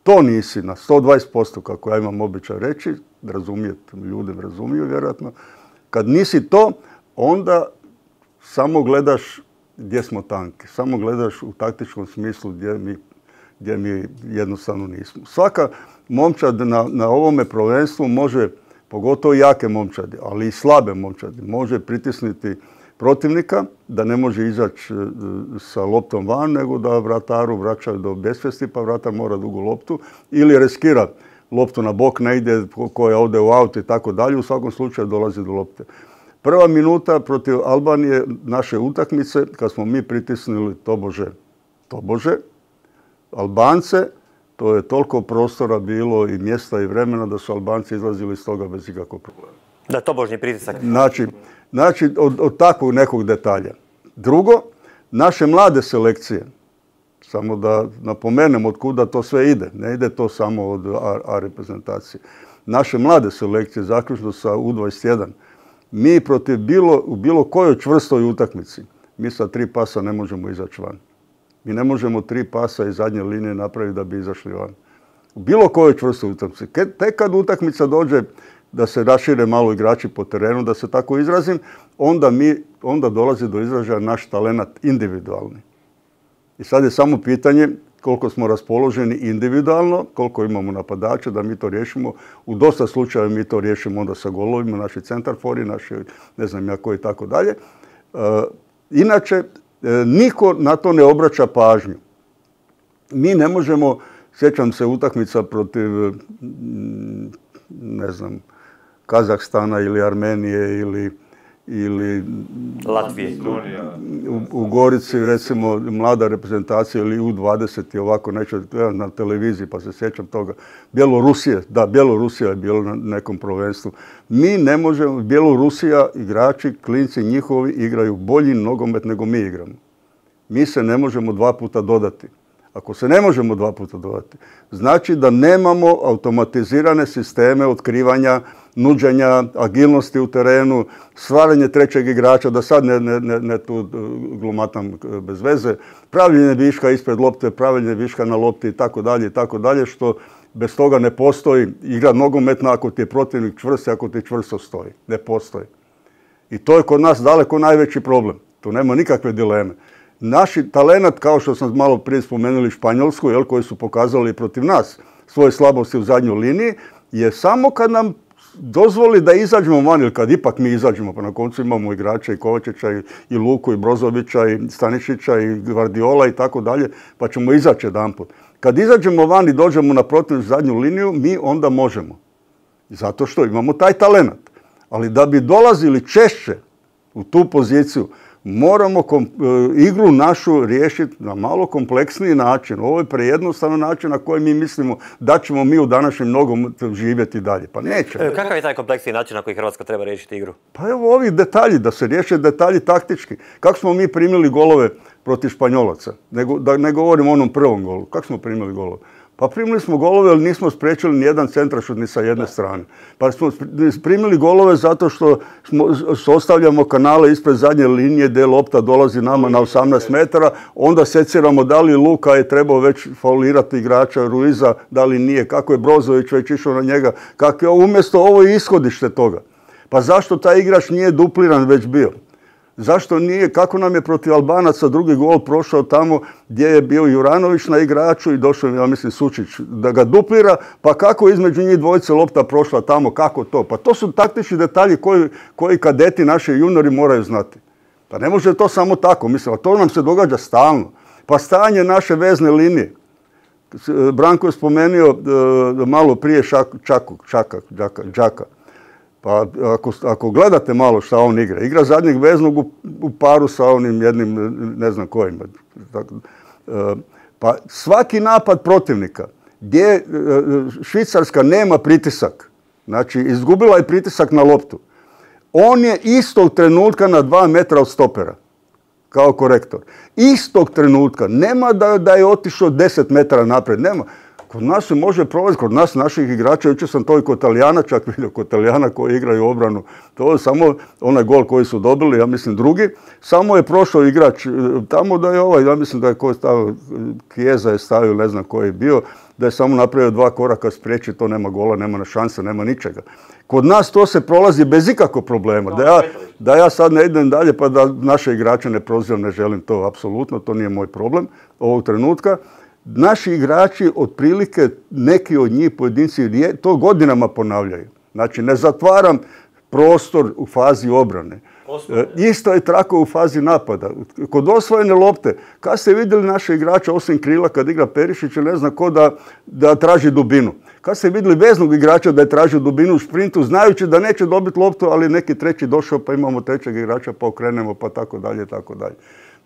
to nisi na sto dvadeset posto, kako ja imam običaj reći, razumijete, ljudi razumiju vjerojatno, kad nisi to, onda samo gledaš gdje smo tanki, samo gledaš u taktičkom smislu gdje mi, gdje mi jednostavno nismo. Svaka momčad na, na ovome prvenstvu može, pogotovo jake momčadi, ali i slabe momčadi, može pritisnuti, protivnika, da ne može izaći sa loptom van, nego da vrataru vraćaju do besvijesti, pa vratar mora dugu loptu ili riskira loptu na bok, ne ide koja ode u aut i tako dalje, u svakom slučaju dolazi do lopte. Prva minuta protiv Albanije naše utakmice, kad smo mi pritisnuli tobože, tobože, Albance, to je toliko prostora bilo i mjesta i vremena da su Albanci izlazili iz toga bez ikakvog problema.
Da, tobožnji pritisak.
Znači, znači od, od takvog nekog detalja. Drugo, naše mlade selekcije, samo da napomenem od kuda to sve ide, ne ide to samo od A, A reprezentacije. Naše mlade selekcije, zaključno sa U dvadeset jedan, mi protiv bilo, u bilo kojoj čvrstoj utakmici, mi sa tri pasa ne možemo izaći van. Mi ne možemo tri pasa iz zadnje linije napraviti da bi izašli van. U bilo kojoj čvrstoj utakmici. Tek kad utakmica dođe da se rašire malo igrači po terenu, da se tako izrazim, onda, mi, onda dolazi do izražaja naš talenat individualni. I sad je samo pitanje koliko smo raspoloženi individualno, koliko imamo napadača da mi to riješimo. U dosta slučajeva mi to riješimo onda sa golovima, naši centarfori, naši ne znam ja koji i tako dalje. Inače, niko na to ne obraća pažnju. Mi ne možemo, sjećam se utakmica protiv, ne znam, Kazahstana ili Armenije ili, ili
Latvije.
U, u Gorici, recimo, mlada reprezentacija ili U dvadeset i ovako neću na televiziji, pa se sjećam toga. Bjelorusija, da, Bjelorusija je bilo na nekom prvenstvu. Mi ne možemo, Bjelorusija, igrači, klinci njihovi igraju bolji nogomet nego mi igramo. Mi se ne možemo dva puta dodati. Ako se ne možemo dva puta dodati, znači da nemamo automatizirane sisteme otkrivanja, nuđenja, agilnosti u terenu, stvaranje trećeg igrača, da sad ne, ne, ne tu glumatam bez veze, pravljenje viška ispred lopte, pravljenje viška na lopti i tako dalje i tako dalje, što bez toga ne postoji igra nogometna ako ti je protivnik čvrst i ako ti čvrsto stoji. Ne postoji. I to je kod nas daleko najveći problem. Tu nema nikakve dileme. Naši talenat, kao što sam malo prije spomenuli Španjolsku, jel, koji su pokazali protiv nas svoje slabosti u zadnjoj liniji, je samo kad nam dozvoli da izađemo van, ili kad ipak mi izađemo, pa na koncu imamo igrača i Kovačića i, i Luku i Brozovića i Stanišića i Gvardiola i tako dalje, pa ćemo izaći jedanput. Kad izađemo van i dođemo na protivnu zadnju liniju, mi onda možemo. Zato što imamo taj talenat. Ali da bi dolazili češće u tu poziciju, moramo kom, e, igru našu riješiti na malo kompleksniji način. Ovo je prejednostavan način na koji mi mislimo da ćemo mi u današnjem nogometu živjeti dalje. Pa neće.
E, kakav je taj kompleksniji način na koji Hrvatska treba riješiti igru?
Pa evo ovi detalji, da se riješe detalji taktički. Kako smo mi primili golove protiv Španjolaca? Ne, da ne govorim o onom prvom golu. Kako smo primili golove? Pa primili smo golove, ali nismo spriječili ni jedan centrašut ni sa jedne strane. Pa smo primili golove zato što smo, ostavljamo kanale ispred zadnje linije gdje lopta dolazi nama na osamnaest metara, onda seciramo da li Luka je trebao već faulirati igrača Ruiza, da li nije, kako je Brozović već išao na njega, kako je umjesto ovo ishodište toga. Pa zašto taj igrač nije dupliran već bio? Zašto nije, kako nam je protiv Albanaca drugi gol prošao tamo gdje je bio Juranović na igraču i došao, ja mislim, Sučić da ga duplira, pa kako između njih dvojice lopta prošla tamo, kako to? Pa to su taktični detalji koji, koji kadeti, naši juniori moraju znati. Pa ne može to samo tako, mislim, a to nam se događa stalno. Pa stanje naše vezne linije. Branko je spomenuo malo prije Čaka, Čaka, Đaka. Pa ako, ako gledate malo šta on igra, igra zadnjeg veznog u, u paru sa onim jednim, ne znam kojim. Pa svaki napad protivnika gdje Švicarska nema pritisak, znači izgubila je pritisak na loptu, on je istog trenutka na dva metra od stopera, kao korektor. Istog trenutka, nema da, da je otišao deset metara naprijed, nema. Kod nas se može provesti, kod nas naših igrača, jučer sam to i kod Talijana čak vidio, kod Talijana koji igraju obranu. To je samo onaj gol koji su dobili, ja mislim drugi, samo je prošao igrač tamo da je ovaj, ja mislim da je koji stavio, Kijeza je stavio, ne znam koji je bio, da je samo napravio dva koraka spriječi, to nema gola, nema šanse, nema ničega. Kod nas to se prolazi bez ikakvog problema. Da ja, da ja sad ne idem dalje pa da naše igrače ne prozivam, ne želim to apsolutno, to nije moj problem ovog trenutka. Naši igrači, otprilike neki od njih pojedinci, to godinama ponavljaju. Znači, ne zatvaram prostor u fazi obrane. Isto je tako u fazi napada. Kod osvojene lopte, kad ste vidjeli naše igrača osim krila kad igra Perišić, ne zna ko da, da traži dubinu. Kad ste vidjeli veznog igrača da je tražio dubinu u sprintu, znajući da neće dobiti loptu, ali neki treći došao pa imamo trećeg igrača pa okrenemo pa tako dalje, tako dalje.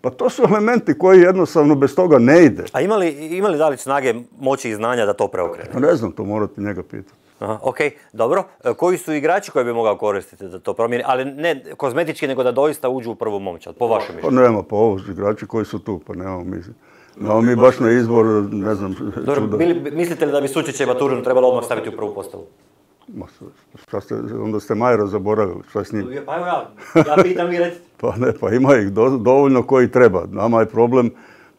Pa to su elementi koji jednostavno bez toga ne ide.
A ima li, ima li Dalić snage, moći i znanja da to preokrene?
Ne znam, to morate njega pitati.
Aha, ok, dobro. Koji su igrači koji bi mogao koristiti da to promijeni, ali ne kozmetički, nego da doista uđu u prvu momčad, po vašem mišljenju?
Pa nema, pa ovo igrači koji su tu, pa nemamo mi. Nemamo mi baš na izbor, ne znam.
Dobro, bili, mislite li da bi Sučića i Baturinu trebalo odmah staviti u prvu postavu?
Ma, šta ste, onda ste Majera zaboravili, šta je s njim?
Pa evo ja, ja pitam vi recite.
Pa ne, pa ima ih do, dovoljno koji treba. Nama je problem,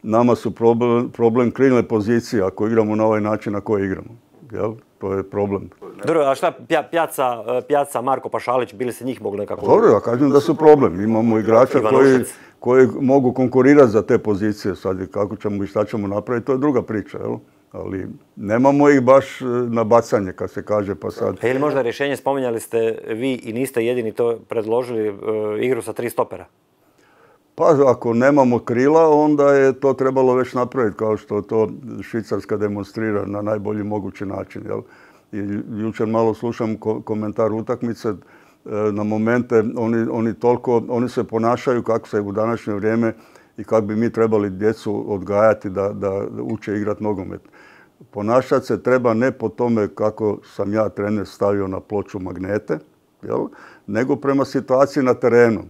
nama su problem, problem krilne pozicije ako igramo na ovaj način na koji igramo. Jel? To je problem.
Dobro, a šta Pjaca, Pjaca, Marko Pašalić, bili se njih mogli nekako...
Dobro, ja kažem da su problem. Imamo igrača koji, koji mogu konkurirati za te pozicije. Sad kako ćemo i šta ćemo napraviti, to je druga priča. Jel? Ali nemamo ih baš na bacanje, kad se kaže, pa sad...
Je li možda rješenje, spominjali ste vi i niste jedini to predložili, igru sa tri stopera?
Pa ako nemamo krila, onda je to trebalo već napraviti, kao što to Švicarska demonstrira na najbolji mogući način. Jel? I jučer malo slušam ko komentar utakmice, na momente oni, oni, toliko, oni se ponašaju kako se u današnje vrijeme i kako bi mi trebali djecu odgajati da, da uče igrati nogomet. Ponašati se treba ne po tome kako sam ja trener stavio na ploču magnete, jel? Nego prema situaciji na terenu.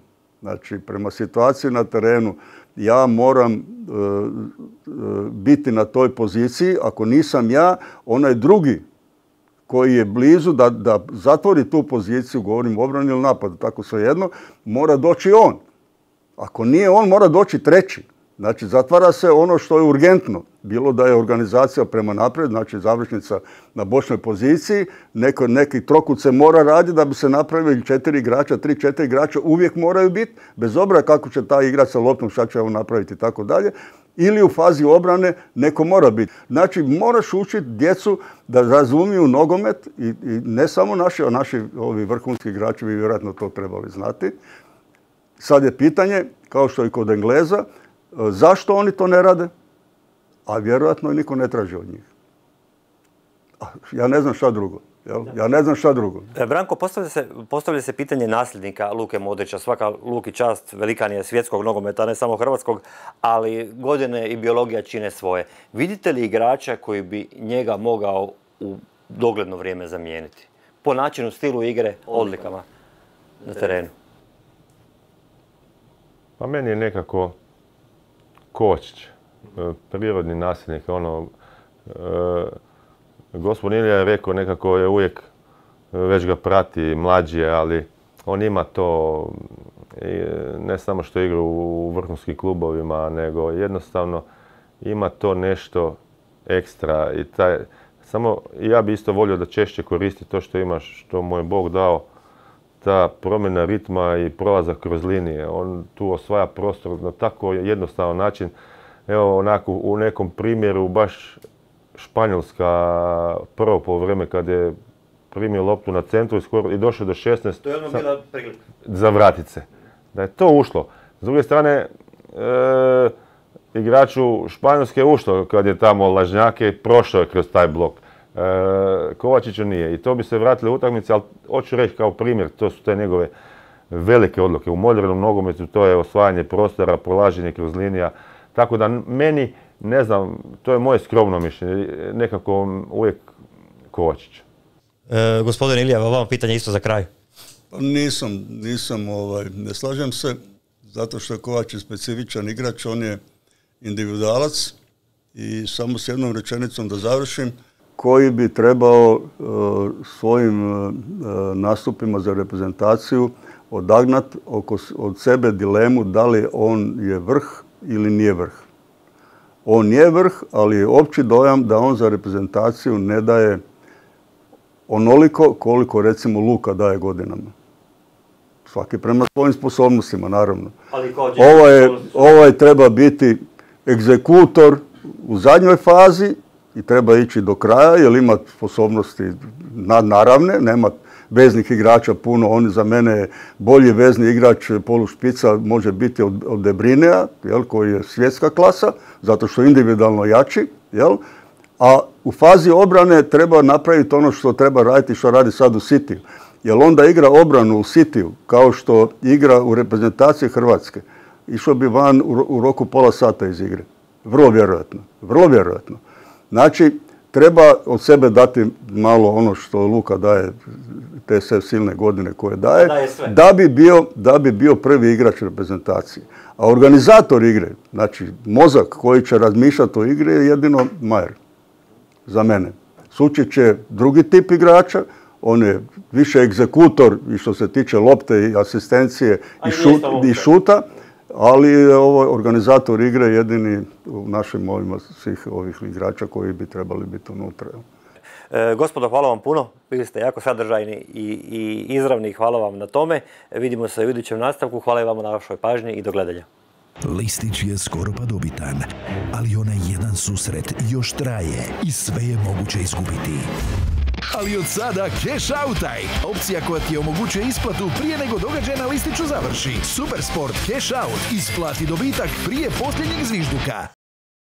Znači, prema situaciji na terenu ja moram e, e, biti na toj poziciji. Ako nisam ja, onaj drugi koji je blizu da, da zatvori tu poziciju, govorim obrani ili napadu, tako svejedno, mora doći on. Ako nije on, mora doći treći. Znači, zatvara se ono što je urgentno. Bilo da je organizacija prema naprijed, znači završnica na bočnoj poziciji, neko, neki trokut se mora raditi da bi se napravili četiri igrača, tri, četiri igrača uvijek moraju biti, bez obzira kako će taj igrač sa loptom, šta će on napraviti i tako dalje. Ili u fazi obrane neko mora biti. Znači, moraš učiti djecu da razumiju nogomet i, i ne samo naši, a naši ovi vrhunski igrači bi vjerojatno to trebali znati. Sad je pitanje, kao što i kod Engleza, zašto oni to ne rade? A vjerojatno niko ne traži od njih. Ja ne znam šta drugo. Jel? Ja ne znam šta drugo.
Branko, postavlja se, postavlja se pitanje nasljednika Luke Modrića. Svaka Luki čast, velikan je svjetskog nogometa, ne samo hrvatskog, ali godine i biologija čine svoje. Vidite li igrača koji bi njega mogao u dogledno vrijeme zamijeniti? Po načinu, stilu igre, odlikama na terenu.
Pa meni je nekako Kovačić, prirodni nasljednik, ono, e, gospodin Ilija je rekao nekako je uvijek, već ga prati, mlađi je, ali on ima to, ne samo što igra u vrhunskim klubovima, nego jednostavno ima to nešto ekstra i taj, samo ja bi isto volio da češće koristi to što ima, što mu je Bog dao, ta promjena ritma i prolazak kroz linije. On tu osvaja prostor na tako jednostavan način. Evo onako u nekom primjeru baš Španjolska prvo po vrijeme kad je primio loptu na centru i, skoro, i došao do šesnaest.
To je ono bila prilika.
Za vratit se. Da je to ušlo. S druge strane, e, igraču Španjolske je ušlo kad je tamo Lažnjake i prošao je kroz taj blok. E, Kovačiću nije. I to bi se vratili u utakmici, ali hoću reći kao primjer, to su te njegove velike odluke. U modernom nogometu to je osvajanje prostora, prolaženje kroz linija. Tako da meni, ne znam, to je moje skromno mišljenje, nekako uvijek Kovačić.
E, gospodin Ilija, vama pitanje isto za kraj.
Pa nisam, nisam, ovaj, ne slažem se, zato što je Kovačić specifičan igrač, on je individualac i samo s jednom rečenicom da završim, koji bi trebao uh, svojim uh, nastupima za reprezentaciju odagnati od sebe dilemu da li on je vrh ili nije vrh. On je vrh, ali je opći dojam da on za reprezentaciju ne daje onoliko koliko recimo Luka daje godinama. Svaki prema svojim sposobnostima, naravno. Ovaj, ovaj treba biti egzekutor u zadnjoj fazi i treba ići do kraja jer ima sposobnosti nadnaravne, nema, veznih igrača puno. On za mene bolji vezni igrač polušpica može biti od, od De Bruyneja, jel, koji je svjetska klasa, zato što je individualno jači. Jel? A u fazi obrane treba napraviti ono što treba raditi, što radi sad u Cityu. Jer onda igra obranu u Cityu, kao što igra u reprezentaciji Hrvatske. Išao bi van u, u roku pola sata iz igre. Vrlo vjerojatno. Vrlo vjerojatno. Znači, treba od sebe dati malo ono što Luka daje, te sve silne godine koje daje,
daje sve.
Da, bi bio, da bi bio prvi igrač reprezentacije. A organizator igre, znači mozak koji će razmišljati o igri je jedino Majer. Za mene. Sučić je drugi tip igrača, on je više egzekutor i što se tiče lopte i asistencije i, šut, i šuta, ali je ovo organizator igre jedini u našim ovima svih ovih igrača koji bi trebali biti unutra.
E, gospodo, hvala vam puno. Bili ste jako sadržajni i, i izravni. Hvala vam na tome. Vidimo se u idućem nastavku. Hvala i vama na vašoj pažnji i do gledanja.
Listić je skoro pa dobitan, ali onaj jedan susret još traje i sve je moguće izgubiti. Ali od sada Cash Outaj, opcija koja ti omogućuje isplatu prije nego događaj na listiću završi. Supersport Cash Out, isplati dobitak prije posljednjeg zvižduka.